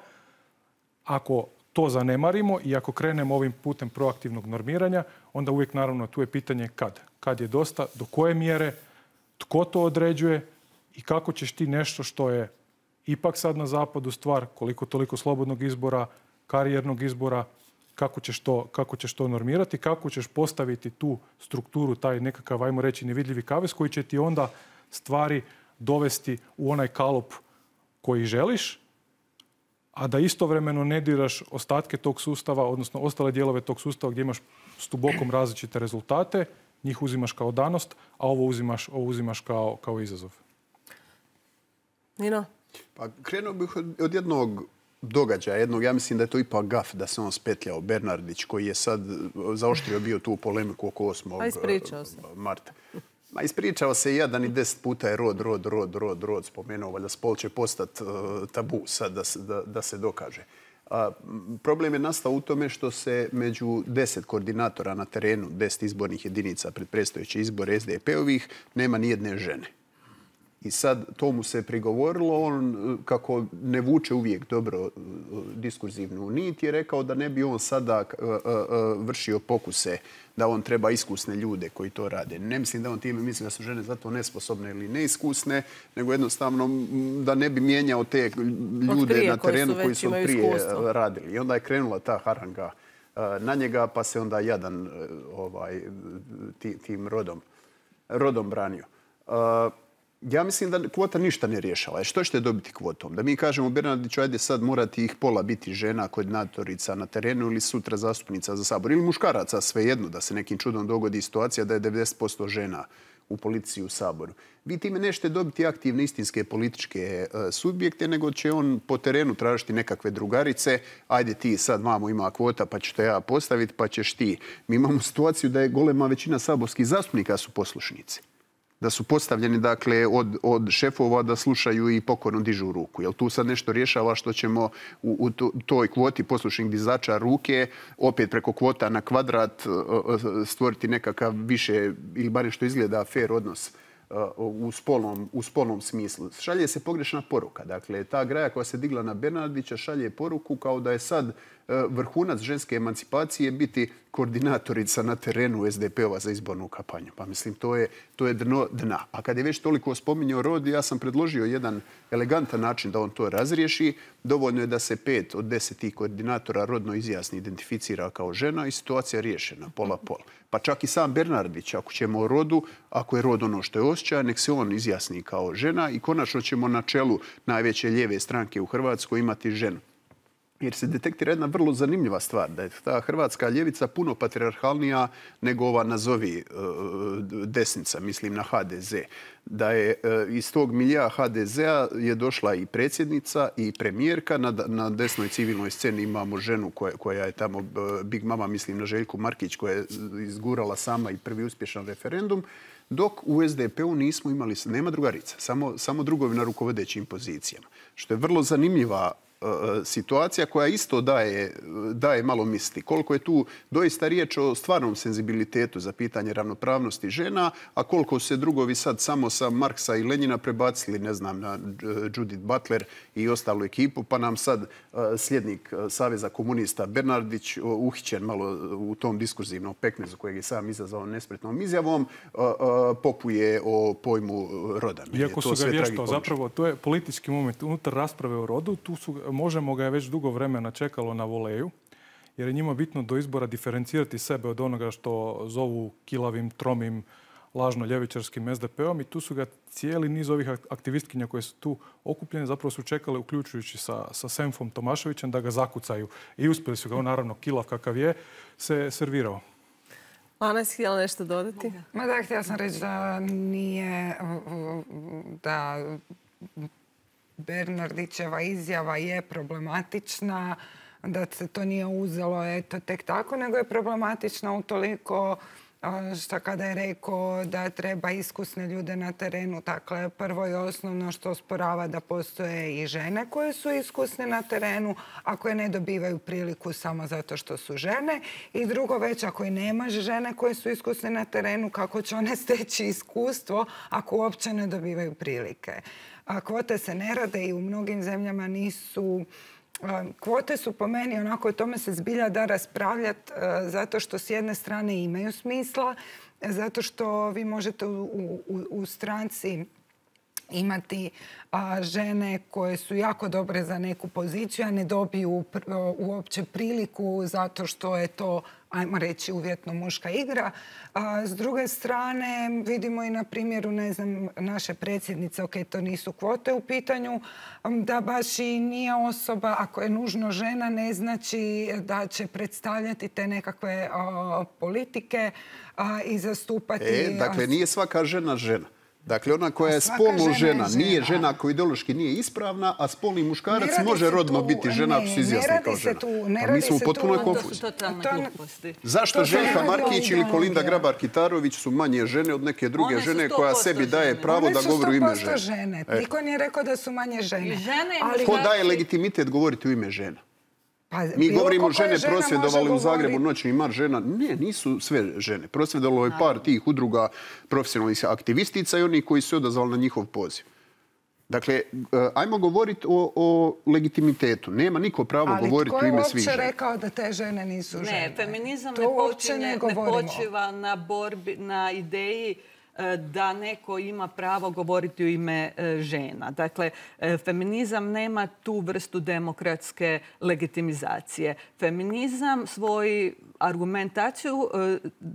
Ako to zanemarimo i ako krenemo ovim putem proaktivnog normiranja, onda uvijek naravno tu je pitanje kad. Kad je dosta, do koje mjere, tko to određuje i kako ćeš ti nešto što je ipak sad na zapadu stvar koliko toliko slobodnog izbora, karijernog izbora, kako ćeš to, kako ćeš to normirati, kako ćeš postaviti tu strukturu, taj nekakav, ajmo reći, nevidljivi kavez koji će ti onda stvari dovesti u onaj kalup koji želiš, a da istovremeno ne diraš ostatke tog sustava, odnosno ostale dijelove tog sustava gdje imaš stubokom različite rezultate, njih uzimaš kao danost, a ovo uzimaš, ovo uzimaš kao, kao izazov. Nino? Pa krenuo bih od, od jednog događaja, jednog, ja mislim da je to ipak gaf da se on spetljao, Bernardić, koji je sad zaoštrio bio tu polemiku oko osmog marta. Ma ispričao se jedan i deset puta je rod, rod, rod, rod, rod spomenuo, valjda spol će postati uh, tabu sad da se, da, da se dokaže. A, problem je nastao u tome što se među deset koordinatora na terenu, deset izbornih jedinica pred predstojeće izbore es de pe-ovih, nema ni jedne žene. I sad to mu se prigovorilo, on kako ne vuče uvijek dobro diskurzivnu nit, je rekao da ne bi on sada vršio pokuse, da on treba iskusne ljude koji to rade. Ne mislim da on time misli da su žene zato nesposobne ili neiskusne, nego jednostavno da ne bi mijenjao te ljude na terenu koji su prije radili. I onda je krenula ta haranga na njega, pa se onda jadan ovaj, tim rodom, rodom branio. Ja mislim da kvota ništa ne rješava. Što ćete dobiti kvotom? Da mi kažemo Bernardiću, ajde sad morati ih pola biti žena, koordinatorica na terenu ili sutra zastupnica za sabor. Ili muškaraca, svejedno, da se nekim čudom dogodi situacija da je devedeset posto žena u policiji u saboru. Vi time nećete dobiti aktivne istinske političke subjekte, nego će on po terenu tražiti nekakve drugarice. Ajde ti sad, mamo, ima kvota, pa ću te ja postaviti, pa ćeš ti. Mi imamo situaciju da je golema većina saborskih zastupnika su poslušnici. Da su postavljeni dakle, od, od šefova da slušaju i pokorno dižu ruku. Jel tu sad nešto rješava što ćemo u, u toj kvoti poslušnih dizača ruke opet preko kvota na kvadrat stvoriti nekakav više ili bar što izgleda fair odnos u spolnom, u spolnom smislu. Šalje se pogrešna poruka. Dakle, ta graja koja se digla na Bernardića šalje poruku kao da je sad vrhunac ženske emancipacije biti koordinatorica na terenu es de pe-ova za izbornu kampanju. Pa mislim, to je, to je dno dna. A kad je već toliko spominjao rod, ja sam predložio jedan elegantan način da on to razriješi. Dovoljno je da se pet od desetih koordinatora rodno izjasni, identificira kao žena i situacija je riješena, pola pola. Pa čak i sam Bernardić, ako ćemo o rodu, ako je rod ono što je osjećaj, nek se on izjasni kao žena i konačno ćemo na čelu najveće lijeve stranke u Hrvatskoj imati ženu. Jer se detektira jedna vrlo zanimljiva stvar, da je ta hrvatska ljevica puno patrijarhalnija nego ova nazovi desnica, mislim na ha de ze. Da je iz tog milija ha de zea je došla i predsjednica i premijerka. Na, na desnoj civilnoj sceni imamo ženu koja, koja je tamo Big Mama, mislim na Željku Markić, koja je izgurala sama i prvi uspješan referendum. Dok u es de pe-u nismo imali, nema drugarica, samo, samo drugovi na rukovodećim pozicijama. Što je vrlo zanimljiva situacija koja isto daje, daje malo misli. Koliko je tu doista riječ o stvarnom senzibilitetu za pitanje ravnopravnosti žena, a koliko se drugovi sad samo sa Marksa i Lenjina prebacili, ne znam, na Judith Butler i ostalu ekipu, pa nam sad sljednik Saveza komunista Bernardić, uhićen malo u tom diskurzivnom pekmezu kojeg je sam izazvao nespretnom izjavom, popuje o pojmu roda. Iako su ga vještao, zapravo to je politički moment unutar rasprave o rodu, tu su možemo ga je već dugo vremena čekalo na voleju, jer je njima bitno do izbora diferencirati sebe od onoga što zovu kilavim, tromim, lažno ljevičarskim es de pe-om i tu su ga cijeli niz ovih aktivistkinja koje su tu okupljene zapravo su čekale, uključujući sa, sa Senfom Tomaševićem, da ga zakucaju. I uspjeli su ga, on naravno kilav kakav je, se servirao. Ana, jesi htjela nešto dodati? Ma da, htjela sam reći da nije, da Bernardićeva izjava je problematična, da se to nije uzelo eto tek tako, nego je problematična utoliko što kada je rekao da treba iskusne ljude na terenu. Dakle, prvo i osnovno što osporava da postoje i žene koje su iskusne na terenu, a koje ne dobivaju priliku samo zato što su žene. I drugo, već ako i nemaš žene koje su iskusne na terenu, kako će one steći iskustvo ako uopće ne dobivaju prilike. A kvote se ne rade i u mnogim zemljama nisu... Kvote su po meni, onako o tome se zbilja da raspravljati, zato što s jedne strane imaju smisla, zato što vi možete u, u, u stranci imati a, žene koje su jako dobre za neku poziciju, a ne dobiju pr uopće priliku zato što je to, ajmo reći, uvjetno muška igra. A, s druge strane, vidimo i na primjeru, ne znam, naše predsjednice, ok, to nisu kvote u pitanju, da baš i nije osoba, ako je nužno žena, ne znači da će predstavljati te nekakve a, politike a, i zastupati... E, dakle, nije svaka žena žena. Dakle, ona koja je spolno žena, nije žena koja ideološki nije ispravna, a spolni muškarac može rodno biti žena ako se izjasni kao žena. A mi smo u potpunoj konfuziji. Zašto Željka Markić ili Kolinda Grabar-Kitarović su manje žene od neke druge žene koja sebi daje pravo da govori u ime žene? One su sto posto žene. Niko nije rekao da su manje žene. Ko daje legitimitet govoriti u ime žena? Mi govorimo žene prosvjedovali u Zagrebu noćni mar žena. Ne, nisu sve žene. Prosvjedovalo je par tih udruga profesionalnih aktivistica i oni koji su odazvali na njihov poziv. Dakle, ajmo govoriti o, o legitimitetu. Nema niko pravo govoriti u ime svih žena. Ali tko je uopće rekao da te žene nisu žene? Ne, feminizam ne, počinje, ne, ne počiva na borbi, na ideji da neko ima pravo govoriti u ime žena. Dakle, feminizam nema tu vrstu demokratske legitimizacije. Feminizam svoju argumentaciju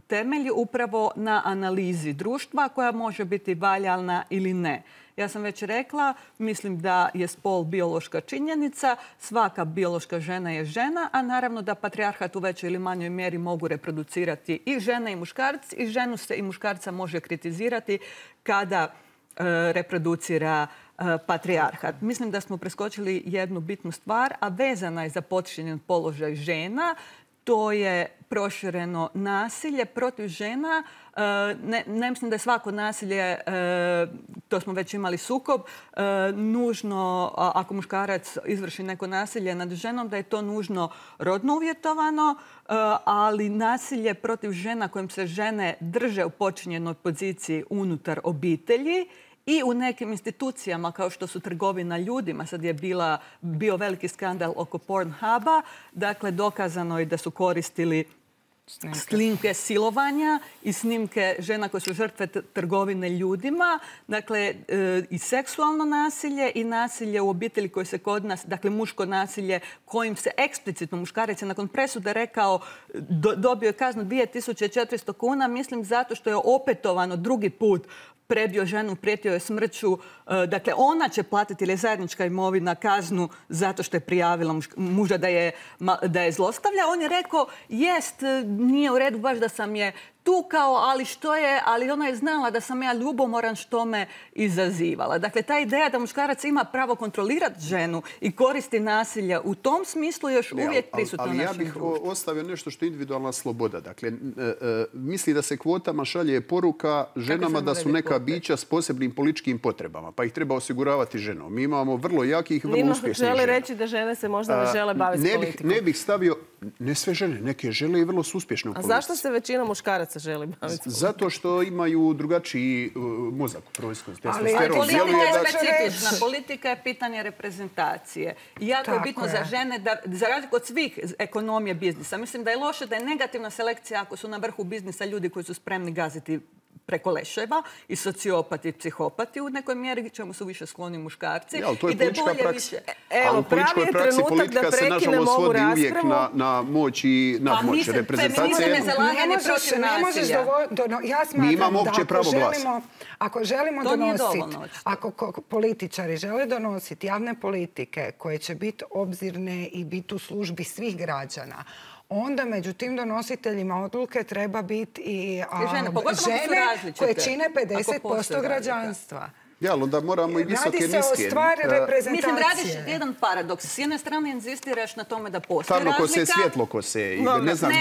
temelji upravo na analizi društva koja može biti valjalna ili ne. Ja sam već rekla, mislim da je spol biološka činjenica, svaka biološka žena je žena, a naravno da patrijarhat u većoj ili manjoj mjeri mogu reproducirati i žene i muškarci, i ženu se i muškarca može kritizirati kada e, reproducira e, patrijarhat. Mislim da smo preskočili jednu bitnu stvar, a vezana je za podčinjen položaj žena. To je prošireno nasilje protiv žena. Ne, ne mislim da je svako nasilje, to smo već imali sukob, nužno, ako muškarac izvrši neko nasilje nad ženom, da je to nužno rodno uvjetovano, ali nasilje protiv žena kojim se žene drže u počinjenoj poziciji unutar obitelji i u nekim institucijama kao što su trgovina ljudima, sad je bila, bio veliki skandal oko Pornhuba, dakle dokazano je da su koristili snimke, snimke silovanja i snimke žena koje su žrtve trgovine ljudima, dakle e, i seksualno nasilje i nasilje u obitelji koje se kod nas, dakle muško nasilje kojim se eksplicitno muškarac je nakon presude rekao do, dobio je kaznu dvije tisuće četiristo kuna, mislim zato što je opetovano drugi put prebio ženu, prijetio je smrću. Dakle, ona će platiti ili zajednička imovina kaznu zato što je prijavila muža da je, da je zlostavlja. On je rekao, jest, nije u redu baš da sam je tukao, ali što je, ali ona je znala da sam ja ljubomoran što me izazivala. Dakle, ta ideja da muškarac ima pravo kontrolirati ženu i koristi nasilja u tom smislu još ne, uvijek prisutno u našem društvu. Ali ja bih ostavio nešto što je individualna sloboda. Dakle, misli da se kvotama šalje poruka ženama da su neka bića s posebnim političkim potrebama, pa ih treba osiguravati ženom. Mi imamo vrlo jakih i vrlo uspješnih žena. Želi reći da žene se možda ne žele baviti ne politikom. Bih, ne bih stavio, ne sve žene, neke žele i vrlo su uspješne u politici. A zašto se većina muškaraca želi baviti politikom? Zato što imaju drugačiji uh, mozak u proizvodu. Ali politika je specifična. Politika je pitanje reprezentacije. I jako je bitno je. za žene, da, za razliku od svih ekonomije biznisa. Mislim da je loše da je negativna selekcija ako su na vrhu biznisa ljudi koji su spremni gaziti preko leševa i sociopati i psihopati u nekoj mjeri, čemu su više skloni muškarci. Ja, to je politička praksa. Evo, pravi je trenutak da prekinemo ovu raspravu. Uvijek na, na moć i nadmoć. Pa feminizam je zalaganje protiv nasilja. Ja smatram da ako želimo, ako želimo donositi, ako političari žele donositi javne politike koje će biti obzirne i biti u službi svih građana, onda među tim donositeljima odluke treba biti i a, žene, žene koje čine pedeset posto građanstva. Ja, ali onda moramo i visoke niske. Radi se o stvari reprezentacije. Mislim, radiš jedan paradoks. S jedne strane insistiraš na tome da postoji razlika. Tamno kose, svjetlo kose. Ne znam, ne,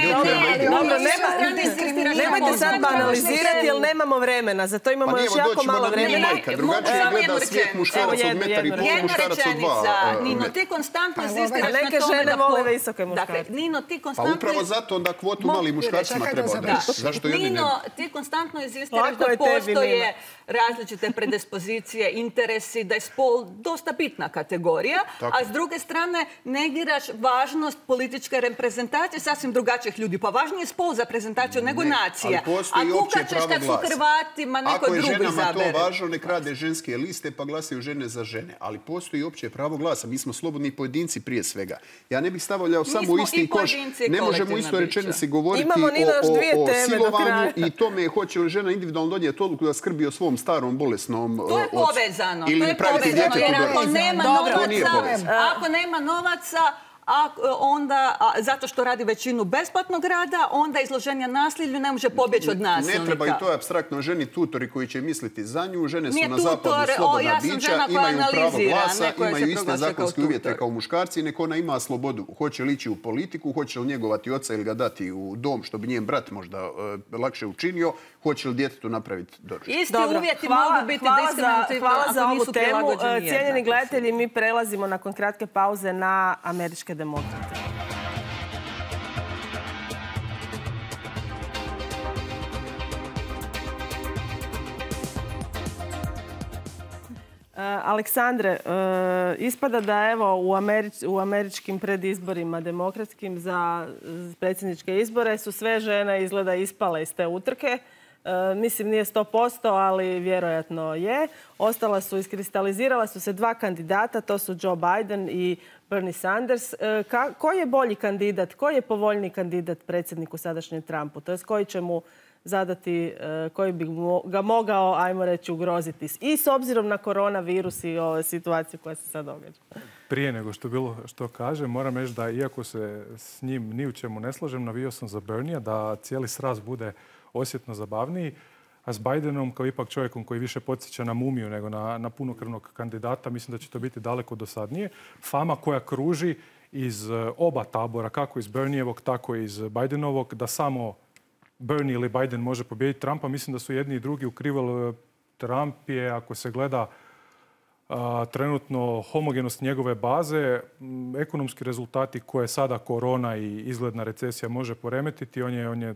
ne, nemojte sad banalizirati jer nemamo vremena. Zato imamo još jako malo vremena. Drugačije gleda svijet muškarac od metar i pol, muškarac od dva. Nino, ti konstantno insistiraš na tome da... Neke žene vole visoke muškarce. Nino, ti konstantno... Pa upravo zato onda kvotu mali muškarcima treba odreći. Zašto i oni ne? Nino, ti konstantno insistiraš da postoje različite predispozicije pozicije, interesi, da je spol dosta bitna kategorija, Tako. a s druge strane negiraš važnost političke reprezentacije sasvim drugačijih ljudi. Pa važniji je spol za prezentaciju nego Ne, nacija. ali postoji A opće kukat ćeš pravo kad su glasa. Hrvatima neko Ako je drugi ženama zabere. to važno, nek rade ženske liste pa glasaju žene za žene. Ali postoji opće pravo glasa. Mi smo slobodni pojedinci prije svega. Ja ne bih stavljao samo u smo isti i koš. pojedinci i Ne možemo u kolektivna istoj bića. rečenici govoriti Imamo, Nina, još o, dvije o, o teme do silovanju kraja. i tome hoće li žena individualno donijeti odluku da skrbi o svom starom bolesnom To je ocu. povezano. Ili To je praviti povezano, djetetu jer ako doručak. nema Dobro. To nije novaca, povezano. ako nema novaca, a onda, a, zato što radi većinu besplatnog rada, onda izloženja nasilju ne može pobjeći od nasilnika. Ne treba i to je apstraktno ženi tutori koji će misliti za nju. Žene su Nije na tutor, zapadu o, slobodna ja sam bića, žena koja imaju pravo analizira, glasa, ne koja se imaju iste proglašava kao zakonske uvjete tutor. kao muškarci i nek ona ima slobodu. Hoće li ići u politiku, hoće li njegovati oca ili ga dati u dom što bi njen brat možda e, lakše učinio, hoće li djetetu napraviti doručak. Isti Dobro, uvjeti hvala, mogu biti hvala za, diskriminativni hvala za ako ovu nisu temu. prilagođeni Cijenjeni jednako. gledatelji, mi prelazimo nakon kratke pauze na američke demokrate. Aleksandre, ispada da evo u, Američ, u američkim predizborima demokratskim za predsjedničke izbore su sve žene izgleda ispale iz te utrke. E, mislim nije sto posto, ali vjerojatno je. Ostala su, iskristalizirala su se dva kandidata, to su Joe Biden i Bernie Sanders. E, ka, koji je bolji kandidat, koji je povoljniji kandidat predsjedniku sadašnjem Trumpu? To jest koji će mu zadati, koji bi ga mogao, ajmo reći, ugroziti. I s obzirom na koronavirus i ove situacije koja se sad događa. Prije nego što bilo što kažem, moram reći da iako se s njim ni u čemu ne slažem, navio sam za Bernie, da cijeli sraz bude osjetno zabavniji. A s Bidenom, kao ipak čovjekom koji više podsjeća na mumiju nego na, na punokrvnog kandidata, mislim da će to biti daleko dosadnije. Fama koja kruži iz oba tabora, kako iz Bernievog, tako i iz Bidenovog, da samo Bernie ili Biden može pobijediti Trumpa. Mislim da su jedni i drugi ukrivali. Trump je, ako se gleda a, trenutno homogenost njegove baze, m, ekonomski rezultati koje sada korona i izgledna recesija može poremetiti, on je, on je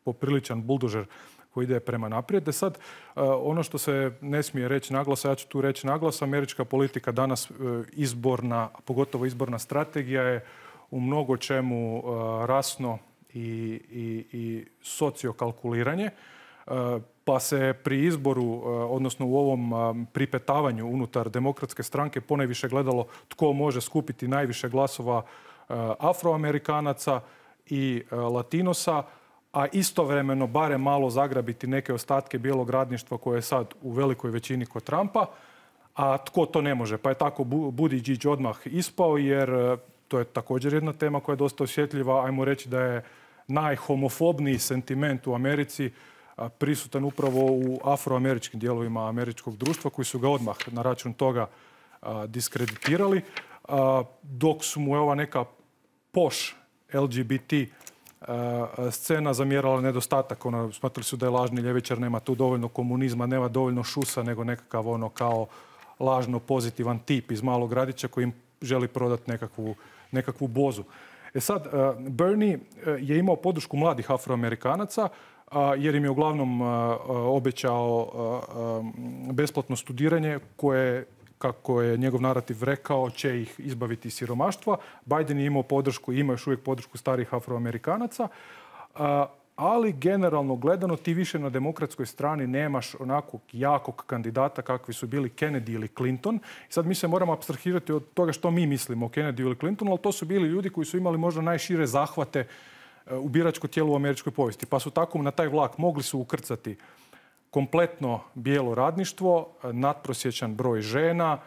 popriličan buldožer koji ide prema naprijed. E sad, a, ono što se ne smije reći naglas, ja ću tu reći naglas, američka politika danas izborna, pogotovo izborna strategija je u mnogo čemu a, rasno i, i, i sociokalkuliranje, pa se pri izboru, odnosno u ovom pripetavanju unutar demokratske stranke ponajviše gledalo tko može skupiti najviše glasova Afroamerikanaca i Latinosa, a istovremeno barem malo zagrabiti neke ostatke bijelog radništva koje je sad u velikoj većini kod Trumpa, a tko to ne može. Pa je tako Buttigieg odmah ispao, jer to je također jedna tema koja je dosta osjetljiva. Ajmo reći da je najhomofobniji sentiment u Americi prisutan upravo u afroameričkim dijelovima američkog društva koji su ga odmah na račun toga diskreditirali, dok su mu ova neka poš L G B T scena zamjerala nedostatak. Ono, smatrali su da je lažni ljevičar, nema tu dovoljno komunizma, nema dovoljno šusa, nego nekakav ono kao lažno pozitivan tip iz malog gradića koji im želi prodati nekakvu, nekakvu bozu. E sad, Bernie je imao podršku mladih Afroamerikanaca jer im je uglavnom obećao besplatno studiranje koje, kako je njegov narativ rekao, će ih izbaviti iz siromaštva. Biden je imao podršku i ima još uvijek podršku starih Afroamerikanaca, ali generalno gledano ti više na demokratskoj strani nemaš onakvog jakog kandidata kakvi su bili Kennedy ili Clinton. I sad mi se moramo apstrahirati od toga što mi mislimo o Kennedy ili Clintonu, ali to su bili ljudi koji su imali možda najšire zahvate u biračko tijelo u američkoj povijesti. Pa su tako na taj vlak mogli su ukrcati kompletno bijelo radništvo, nadprosječan broj žena.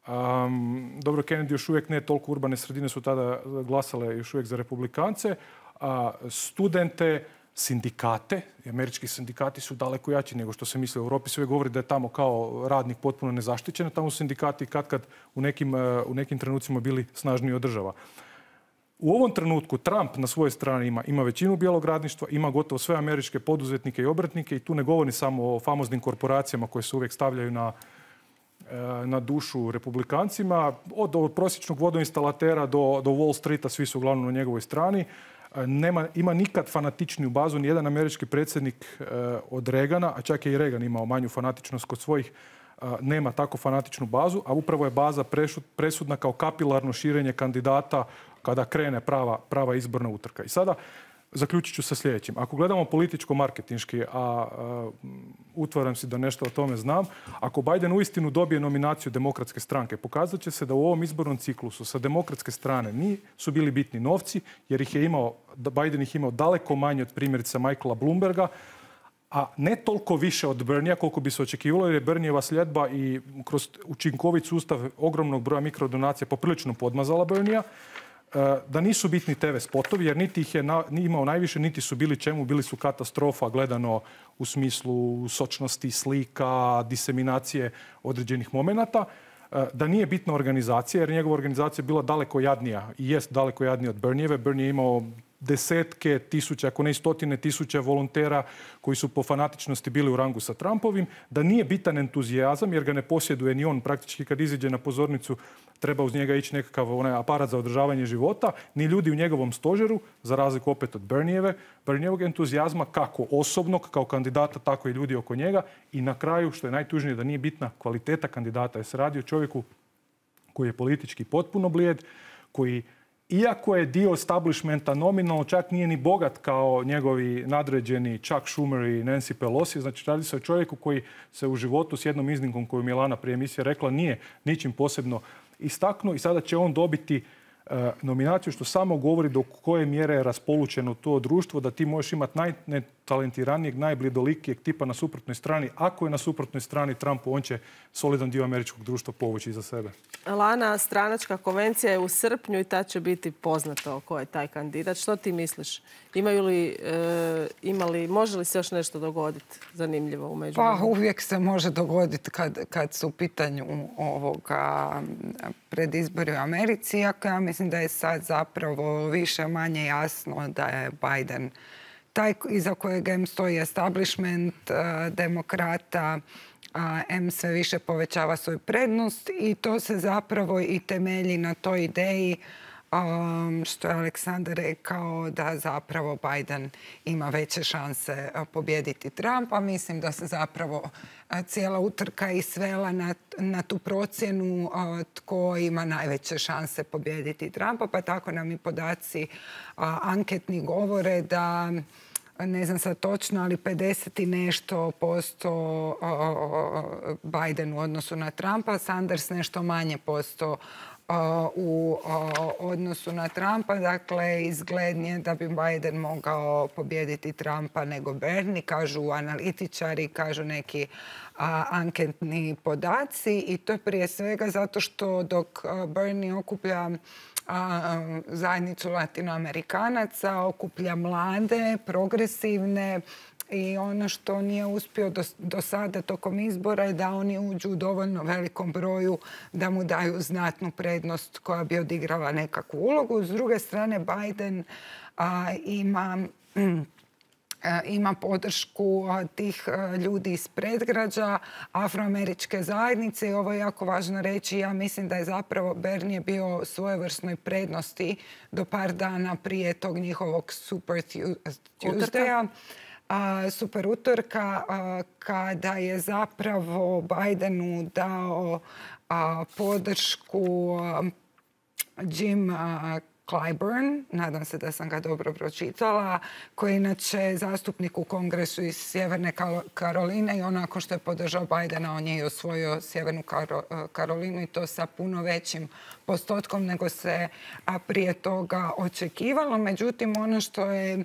Um, dobro, Kennedy još uvijek ne, toliko urbane sredine su tada glasale još uvijek za republikance. A studente, sindikate, američki sindikati su daleko jači nego što se misli. U Europi se uvijek govori da je tamo kao radnik potpuno nezaštićen, tamo su sindikati kad kad u nekim, u nekim trenucima bili snažniji od država. U ovom trenutku Trump na svojoj strani ima, ima većinu bijelog radništva, ima gotovo sve američke poduzetnike i obrtnike i tu ne govori samo o famoznim korporacijama koje se uvijek stavljaju na, na dušu republikancima. Od, od prosječnog vodoinstalatera do, do Wall Streeta svi su uglavnom na njegovoj strani. Nema, ima nikad fanatičniju bazu, nijedan američki predsjednik od Reagana, a čak je i Reagan imao manju fanatičnost kod svojih nema tako fanatičnu bazu, a upravo je baza presudna kao kapilarno širenje kandidata kada krene prava, prava izborna utrka. I sada zaključit ću sa sljedećim. Ako gledamo političko-marketinški, a, a utvaram si da nešto o tome znam, ako Biden uistinu dobije nominaciju Demokratske stranke, pokazat će se da u ovom izbornom ciklusu sa demokratske strane nisu bili bitni novci, jer ih je imao, Biden ih imao daleko manje od primjerice Michaela Bloomberga, a ne toliko više od Berniea koliko bi se očekivalo, jer je Bernieva sljedba i kroz učinkovit sustav ogromnog broja mikrodonacija poprilično podmazala Berniea, da nisu bitni te ve spotovi, jer niti ih je na, ni imao najviše, niti su bili čemu, bili su katastrofa gledano u smislu sočnosti, slika, diseminacije određenih momenata, da nije bitna organizacija, jer njegova organizacija je bila daleko jadnija i jest daleko jadnija od Bernieve. Bernie je imao desetke tisuća, ako ne i stotine tisuća volontera koji su po fanatičnosti bili u rangu sa Trumpovim, da nije bitan entuzijazam jer ga ne posjeduje ni on. Praktički kad iziđe na pozornicu treba uz njega ići nekakav onaj aparat za održavanje života, ni ljudi u njegovom stožeru, za razliku opet od Bernieve, Bernievog entuzijazma kako osobnog, kao kandidata, tako i ljudi oko njega. I na kraju, što je najtužnije, da nije bitna kvaliteta kandidata, jer se radi o čovjeku koji je politički potpuno blijed, koji iako je dio establishmenta nominalno, čak nije ni bogat kao njegovi nadređeni Chuck Schumer i Nancy Pelosi. Znači, radi se o čovjeku koji se u životu s jednom iznimkom koju Milana prije emisije rekla nije ničim posebno istaknuo i sada će on dobiti uh, nominaciju, što samo govori do koje mjere je raspolučeno to društvo, da ti možeš imati najnetalentiranijeg, najblidolikijeg tipa na suprotnoj strani. Ako je na suprotnoj strani Trumpu, on će solidan dio američkog društva povući iza sebe. Lana, stranačka konvencija je u srpnju i tad će biti poznato ko je taj kandidat. Što ti misliš? Imaju li, e, imali, može li se još nešto dogoditi zanimljivo u međuvremenu? Pa uvijek se može dogoditi kad, kad su u pitanju ovoga predizbori u Americi. Iako ja mislim da je sad zapravo više manje jasno da je Biden taj iza kojeg em stoji establishment uh, demokrata, a em sve više povećava svoju prednost i to se zapravo i temelji na toj ideji um, što je Aleksandar rekao da zapravo Biden ima veće šanse pobijediti Trumpa. Mislim da se zapravo cijela utrka i svela na, na tu procjenu uh, tko ima najveće šanse pobijediti Trumpa, pa tako nam i podaci uh, anketni govore da ne znam sad točno, ali pedeset i nešto posto Biden u odnosu na Trumpa, Sanders nešto manje posto u odnosu na Trumpa. Dakle, izglednije da bi Biden mogao pobijediti Trumpa nego Bernie, kažu analitičari, kažu neki anketni podaci. I to je prije svega zato što dok Bernie okuplja zajednicu latinoamerikanaca, okuplja mlade, progresivne i ono što nije uspio do, do sada tokom izbora je da oni uđu u dovoljno velikom broju da mu daju znatnu prednost koja bi odigrala nekakvu ulogu. S druge strane, Biden a, ima... Mm, ima podršku tih ljudi iz predgrađa, afroameričke zajednice i ovo je jako važno reći. Ja mislim da je zapravo Bernie bio svojevrsnoj prednosti do par dana prije tog njihovog Super Tuesdaya, super utorka, kada je zapravo Bidenu dao podršku Jim Clyburn, nadam se da sam ga dobro pročitala, koji je inače zastupnik u Kongresu iz Sjeverne Karoline i onako što je podržao Bidena, on je i osvojio Sjevernu Karolinu i to sa puno većim postotkom nego se prije toga očekivalo. Međutim, ono što je,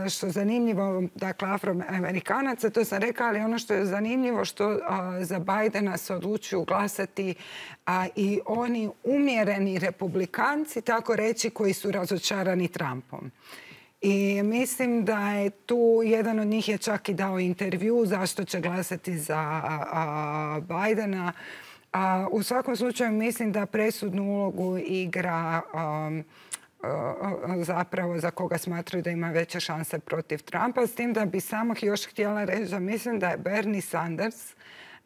što je zanimljivo, dakle, afroamerikanaca, to sam rekla, ali ono što je zanimljivo što a, za Bidena se odlučuju glasati a, i oni umjereni republikanci, tako reći, koji su razočarani Trumpom. I mislim da je tu, jedan od njih je čak i dao intervju zašto će glasati za a, a, Bidena. A, u svakom slučaju mislim da presudnu ulogu igra um, uh, zapravo za koga smatraju da ima veće šanse protiv Trumpa. S tim da bi samo još htjela reći da mislim da je Bernie Sanders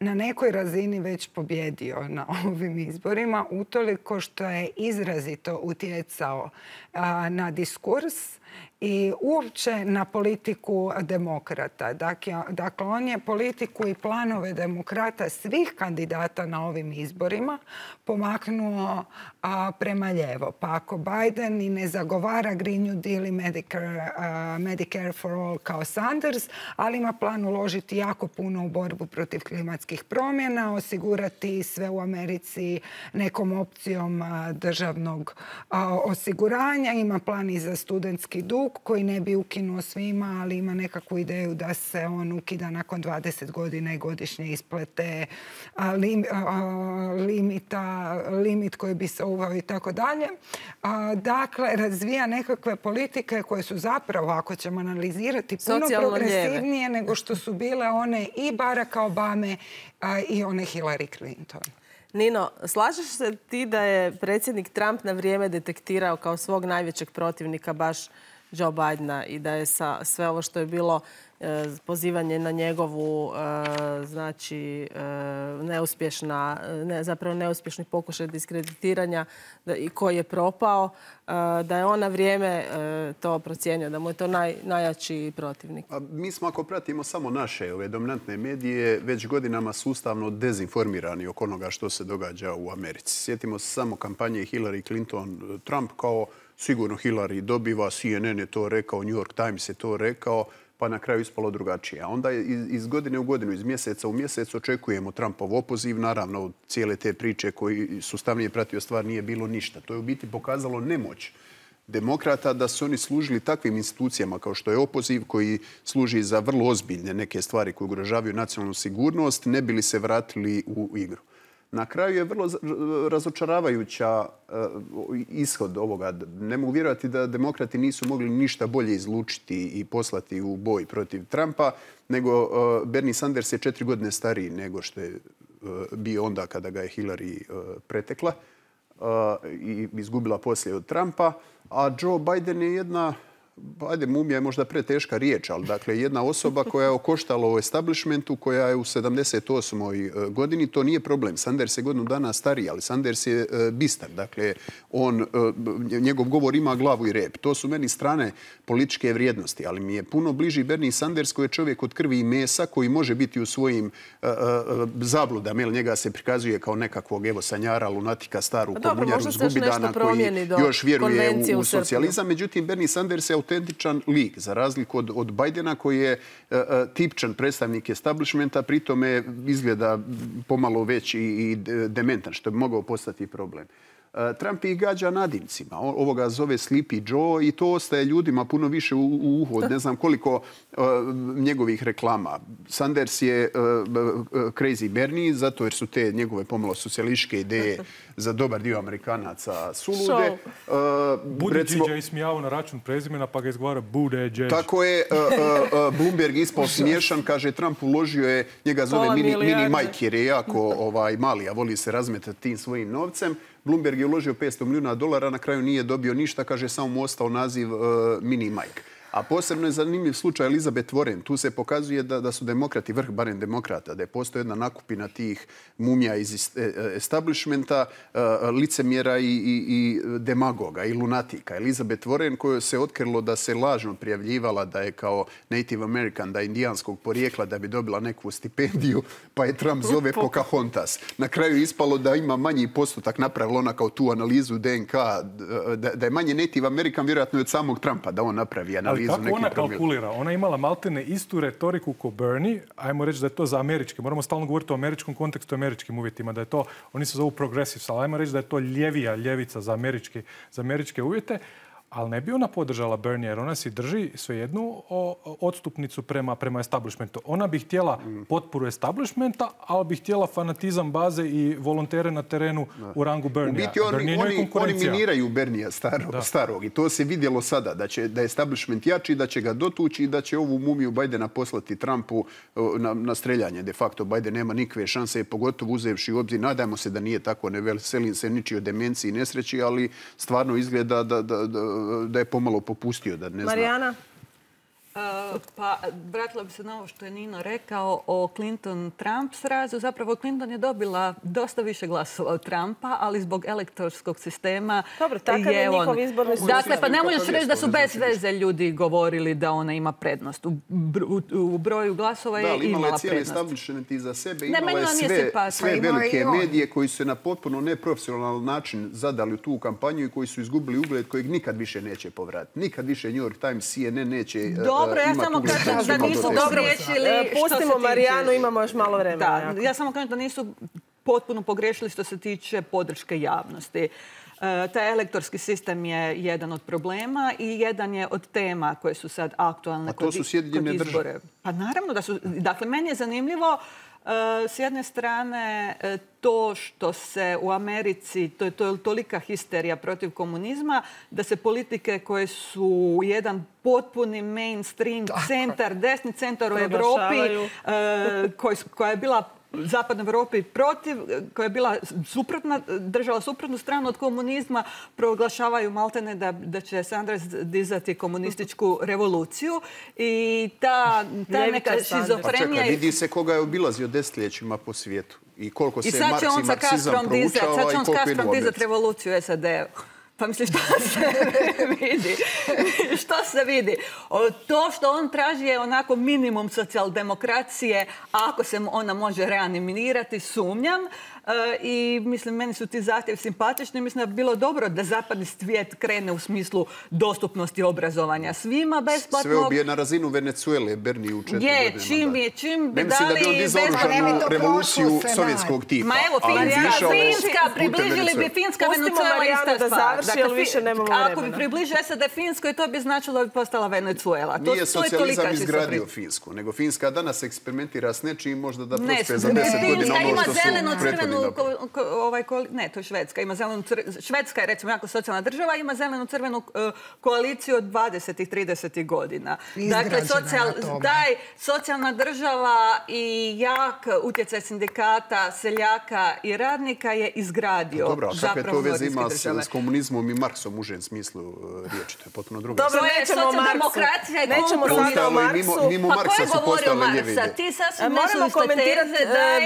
na nekoj razini već pobjedio na ovim izborima, utoliko što je izrazito utjecao uh, na diskurs i uopće na politiku demokrata. Dakle, dakle, on je politiku i planove demokrata svih kandidata na ovim izborima pomaknuo a, prema lijevo. Pa ako Biden i ne zagovara Green New Deal i Medicare, a, Medicare for all kao Sanders, ali ima plan uložiti jako puno u borbu protiv klimatskih promjena, osigurati sve u Americi nekom opcijom a, državnog a, osiguranja, ima plan i za studentski dug koji ne bi ukinuo svima, ali ima nekakvu ideju da se on ukida nakon dvadeset godina i godišnje isplate a, lim, a, limita, limit koji bi se uveo i tako dalje. A, Dakle, razvija nekakve politike koje su zapravo, ako ćemo analizirati, puno Socijalno progresivnije nego što su bile one i Baracka Obame a, i one Hillary Clinton. Nino, slažeš se ti da je predsjednik Trump na vrijeme detektirao kao svog najvećeg protivnika baš Joe Bidena i da je sa sve ovo što je bilo e, pozivanje na njegovu e, znači e, neuspješna, ne, zapravo neuspješni pokušaj diskreditiranja da, i koji je propao, e, da je on na vrijeme e, to procijenio, da mu je to naj, najjači protivnik. A mi smo, ako pratimo samo naše ove dominantne medije, već godinama sustavno dezinformirani oko onoga što se događa u Americi. Sjetimo se samo kampanje Hillary Clinton Trump kao sigurno Hillary dobiva, C N N je to rekao, New York Times je to rekao, pa na kraju ispalo drugačije. A onda iz, iz godine u godinu, iz mjeseca u mjesec očekujemo Trumpov opoziv. Naravno, cijele te priče koji sustavnije pratio stvar nije bilo ništa. To je u biti pokazalo nemoć demokrata da su oni služili takvim institucijama kao što je opoziv koji služi za vrlo ozbiljne neke stvari koje ugrožavaju nacionalnu sigurnost, ne bili se vratili u igru. Na kraju je vrlo razočaravajuća ishod ovoga. Ne mogu vjerovati da demokrati nisu mogli ništa bolje izlučiti i poslati u boj protiv Trumpa, nego Bernie Sanders je četiri godine stariji nego što je bio onda kada ga je Hillary pretekla i izgubila poslije od Trumpa. A Joe Biden je jedna, ajde, mumija je možda preteška riječ, ali dakle jedna osoba koja je okoštala u establishmentu, koja je u sedamdeset osmoj godini. To nije problem. Sanders je godinu dana stariji, ali Sanders je bistar. Dakle, on, njegov govor ima glavu i rep. To su meni strane političke vrijednosti, ali mi je puno bliži Bernie Sanders koji je čovjek od krvi i mesa, koji može biti u svojim uh, uh, zabludama. Jer njega se prikazuje kao nekakvog evo sanjara, lunatika, staru komunjaru zgubidana koji još vjeruje u, u socijalizam. Međutim, Bernie Sanders je autentičan lik, za razliku od, od Bidena koji je uh, tipčan predstavnik establishmenta, pritome izgleda pomalo već i, i dementan, što bi mogao postati problem. Trump ih gađa nadimcima. Ovoga zove Sleepy Joe i to ostaje ljudima puno više u, u uhu. Ne znam koliko uh, njegovih reklama. Sanders je uh, Crazy Bernie, zato jer su te njegove pomalo socijalističke ideje za dobar dio Amerikanaca sulude. Uh, Buttigieg je ismijavao na račun prezimena pa ga izgovara Buttigieg. Tako je. Uh, uh, Bloomberg ispao smiješan. Kaže, Trump uložio je, njega zove mini, mini Mike jer je jako ovaj, mali, a voli se razmetati tim svojim novcem. Bloomberg je uložio petsto milijuna dolara, na kraju nije dobio ništa, kaže, samo mu ostao naziv uh, Mini Mike. A posebno je zanimljiv slučaj Elizabeth Warren. Tu se pokazuje da, da su demokrati, vrh barem demokrata, da je postoji jedna nakupina tih mumija iz establishmenta, uh, licemjera i, i, i demagoga i lunatika. Elizabeth Warren koju se otkrilo da se lažno prijavljivala da je kao Native American, da je indijanskog porijekla, da bi dobila neku stipendiju, pa je Trump zove Pocahontas. Na kraju ispalo da ima manji postotak, napravila ona kao tu analizu D N K, da, da je manje Native American vjerojatno od samog Trumpa, da on napravi analizu. Tako ona kalkulira. Ona je imala maltene istu retoriku ko Bernie. Ajmo reći da je to za američke. Moramo stalno govoriti o američkom kontekstu, američkim uvjetima. Da je to, oni se zovu progressives, ali ajmo reći da je to ljevija ljevica za američke, za američke uvjete. Ali ne bi ona podržala Bernie jer ona si drži svejednu odstupnicu prema, prema establishmentu. Ona bi htjela potporu establishmenta, ali bi htjela fanatizam baze i volontere na terenu da. U rangu Bernie. U biti oni, oni, oni miniraju Bernie staro, starog i to se vidjelo sada da će da je establishment jači, da će ga dotući i da će ovu mumiju Bidena poslati Trumpu na, na streljanje. De facto Biden nema nikakve šanse, pogotovo uzevši u obzir. Nadajmo se da nije tako, ne veselim se ničijoj demenciji i nesreći, ali stvarno izgleda da, da, da da je pomalo popustio. Da ne Marijana? Pa, vratila bi se na ovo što je Nino rekao o Clinton-Trump srazu. Zapravo, Clinton je dobila dosta više glasova od Trumpa, ali zbog elektorskog sistema Dobro, takav je njihov izborni sustav. Dakle, pa ne možeš reći da su bez veze ljudi govorili da ona ima prednost. U broju glasova je imala prednost. Da, ali imala je cijeli establishment iza sebe. Imala je sve velike medije koji su na potpuno neprofesionalan način zadali tu kampanju i koji su izgubili ugled kojeg nikad više neće povratiti. Nikad više New York Times, C N N neće imati ugled. Dobro, ja samo kažem da nisu pogriješili. Pustimo Marijanu, imamo još malo vremena. Da, ja samo kažem da nisu potpuno pogriješili što se tiče podrške javnosti. Taj elektorski sistem je jedan od problema i jedan je od tema koje su sad aktualne kod izbore. Pa naravno da su. Dakle, meni je zanimljivo s jedne strane to što se u Americi, to je tolika histerija protiv komunizma, da se politike koje su jedan potpuni mainstream centar, desni centar u Europi, koja je bila Zapadnoj Europi protiv, koja je bila suprotna, držala suprotnu stranu od komunizma, proglašavaju maltene da, da će Sanders dizati komunističku revoluciju. I ta, ta neka šizofrenija... Pa čekaj, vidi se koga je obilazio desetljećima po svijetu. I koliko se Marks i marksizam proučava i koliko idu u Americi. Sad će on sa Kastrom dizati revoluciju u S A D-u. Pa mislim, što se vidi? Što se vidi? To što on traži je onako minimum socijaldemokracije, ako se ona može reanimirati, sumnjam. I mislim, meni su ti zahtjevi simpatični. Mislim da bi bilo dobro da zapadni svijet krene u smislu dostupnosti obrazovanja svima besplatnog. Sve obije na razinu Venezuele, Berni u četiri godine. Je, čim je, čim bi dali... Ne mislim da bi on dizao oružanu revoluciju sovjetskog tipa. Ma evo, Finska, približili bi Finska, Venezuela ista stvar. Ako bi približio S A D Finskoj, to bi značilo da bi postala Venezuela. Nije socijalizam izgradio Finsku, nego Finska danas eksperimentira s nečim možda da prospe za deset godina ono što su prethodni. Ne, to je Švedska. Švedska je, recimo, jako socijalna država, ima zelenu-crvenu koaliciju od dvadesetih tridesetih godina. Dakle, taj socijalna država i jak utjecaj sindikata, seljaka i radnika je izgradio zapravo nordijske države. Dobro, a kakve to veze ima s komunizmom i Marksom u užem smislu riječi? To je potpuno drugo. Dobro, nećemo o Marksu. Nećemo sada o Marksu. Mimo Marksa su postale ljevide. Ti sasvim moramo komentirati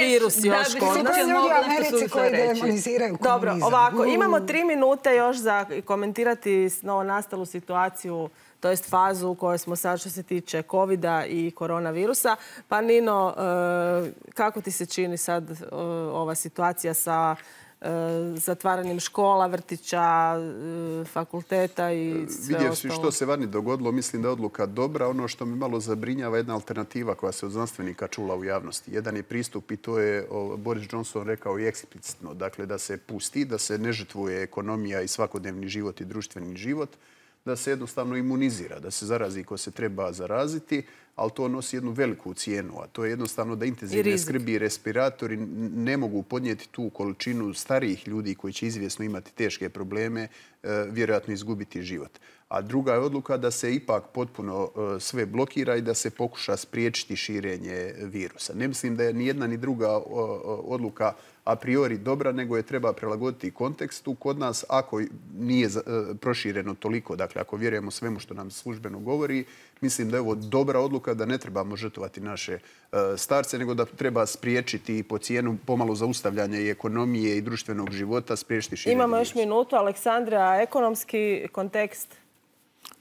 virus još kod nas. Americi koji demoniziraju komunizam. Dobro, ovako, imamo tri minute još za komentirati novonastalu situaciju, to jest fazu u kojoj smo sad što se tiče kovida i koronavirusa. Pa Nino, kako ti se čini sad ova situacija sa zatvaranjem škola, vrtića, fakulteta i sve ostalo? Vidjevši što se vani dogodilo, mislim da je odluka dobra. Ono što mi malo zabrinjava je jedna alternativa koja se od znanstvenika čula u javnosti. Jedan je pristup i to je Boris Johnson rekao i eksplicitno. Dakle, da se pusti, da se ne žrtvuje ekonomija i svakodnevni život i društveni život, da se jednostavno imunizira, da se zarazi ko se treba zaraziti, ali to nosi jednu veliku cijenu, a to je jednostavno da intenzivne skrbi i respiratori ne mogu podnijeti tu količinu starijih ljudi koji će izvjesno imati teške probleme, vjerojatno izgubiti život. A druga je odluka da se ipak potpuno sve blokira i da se pokuša spriječiti širenje virusa. Ne mislim da je ni jedna ni druga odluka a priori dobra, nego je treba prilagoditi kontekstu. Kod nas, ako nije prošireno toliko, dakle ako vjerujemo svemu što nam službeno govori, mislim da je ovo dobra odluka, da ne trebamo žrtvovati naše starce, nego da treba spriječiti po cijenu pomalo zaustavljanja i ekonomije i društvenog života, spriječiti širenje virusa. Imamo još minutu. Aleksandra, ekonomski kontekst?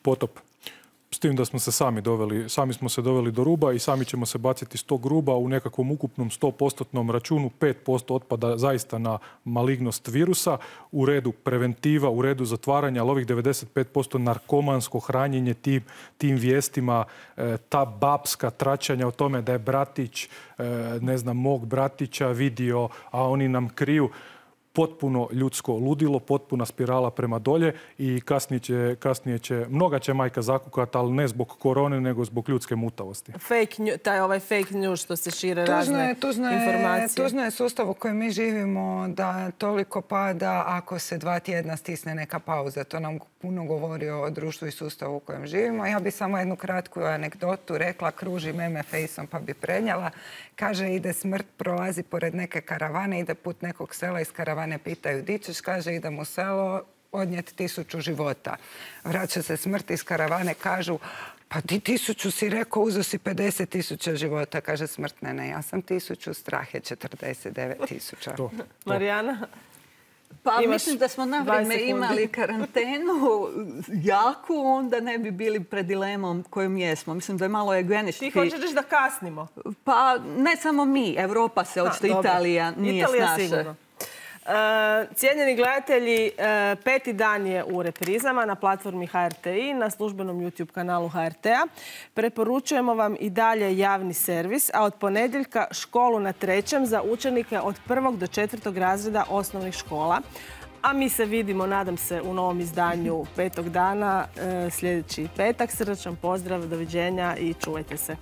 Potop. S tim da smo se sami doveli, sami smo se doveli do ruba i sami ćemo se baciti s tog ruba u nekakvom ukupnom sto postotnom računu. pet posto otpada zaista na malignost virusa, u redu preventiva, u redu zatvaranja, ali ovih devedeset pet posto narkomansko hranjenje tim, tim vijestima, ta babska tračanja o tome da je bratić, ne znam, mog bratića vidio, a oni nam kriju. Potpuno ljudsko ludilo, potpuna spirala prema dolje i kasnije će, kasnije će mnoga će majka zakukati, ali ne zbog korone, nego zbog ljudske mutavosti. Fake, taj ovaj fake news što se šire razne informacije. Tužno je sustav u kojem mi živimo da toliko pada ako se dva tjedna stisne neka pauza. To nam puno govori o društvu i sustavu u kojem živimo. Ja bi samo jednu kratku anegdotu rekla, kruži meme fejsom pa bi prenijela. Kaže, ide smrt, prolazi pored neke karavane, ide put nekog sela, iz karavane pitaju di ćeš, kaže, idem u selo odnijeti tisuću života. Vraća se smrt iz karavane, kažu, Pa ti tisuću si rekao, uzo si pedeset tisuća života, kaže smrtne. Ne, ja sam tisuću, strah je četrdeset devet tisuća. Marijana? Pa mislim da smo na vrijeme imali karantenu jaku, onda ne bi bili pred dilemom kojom jesmo. Mislim da je malo eugenički. Ti hoćeš da kasnimo? Pa ne samo mi, Evropa se, očito Italija nije snaša. Sigurno. Cijenjeni gledatelji, peti dan je u reprizama na platformi H R T I, na službenom YouTube kanalu H R T-a. Preporučujemo vam i dalje javni servis, a od ponedjeljka školu na trećem za učenike od prvog do četvrtog razreda osnovnih škola. A mi se vidimo, nadam se, u novom izdanju petog dana sljedeći petak. Srdačan pozdrav, doviđenja i čuvajte se.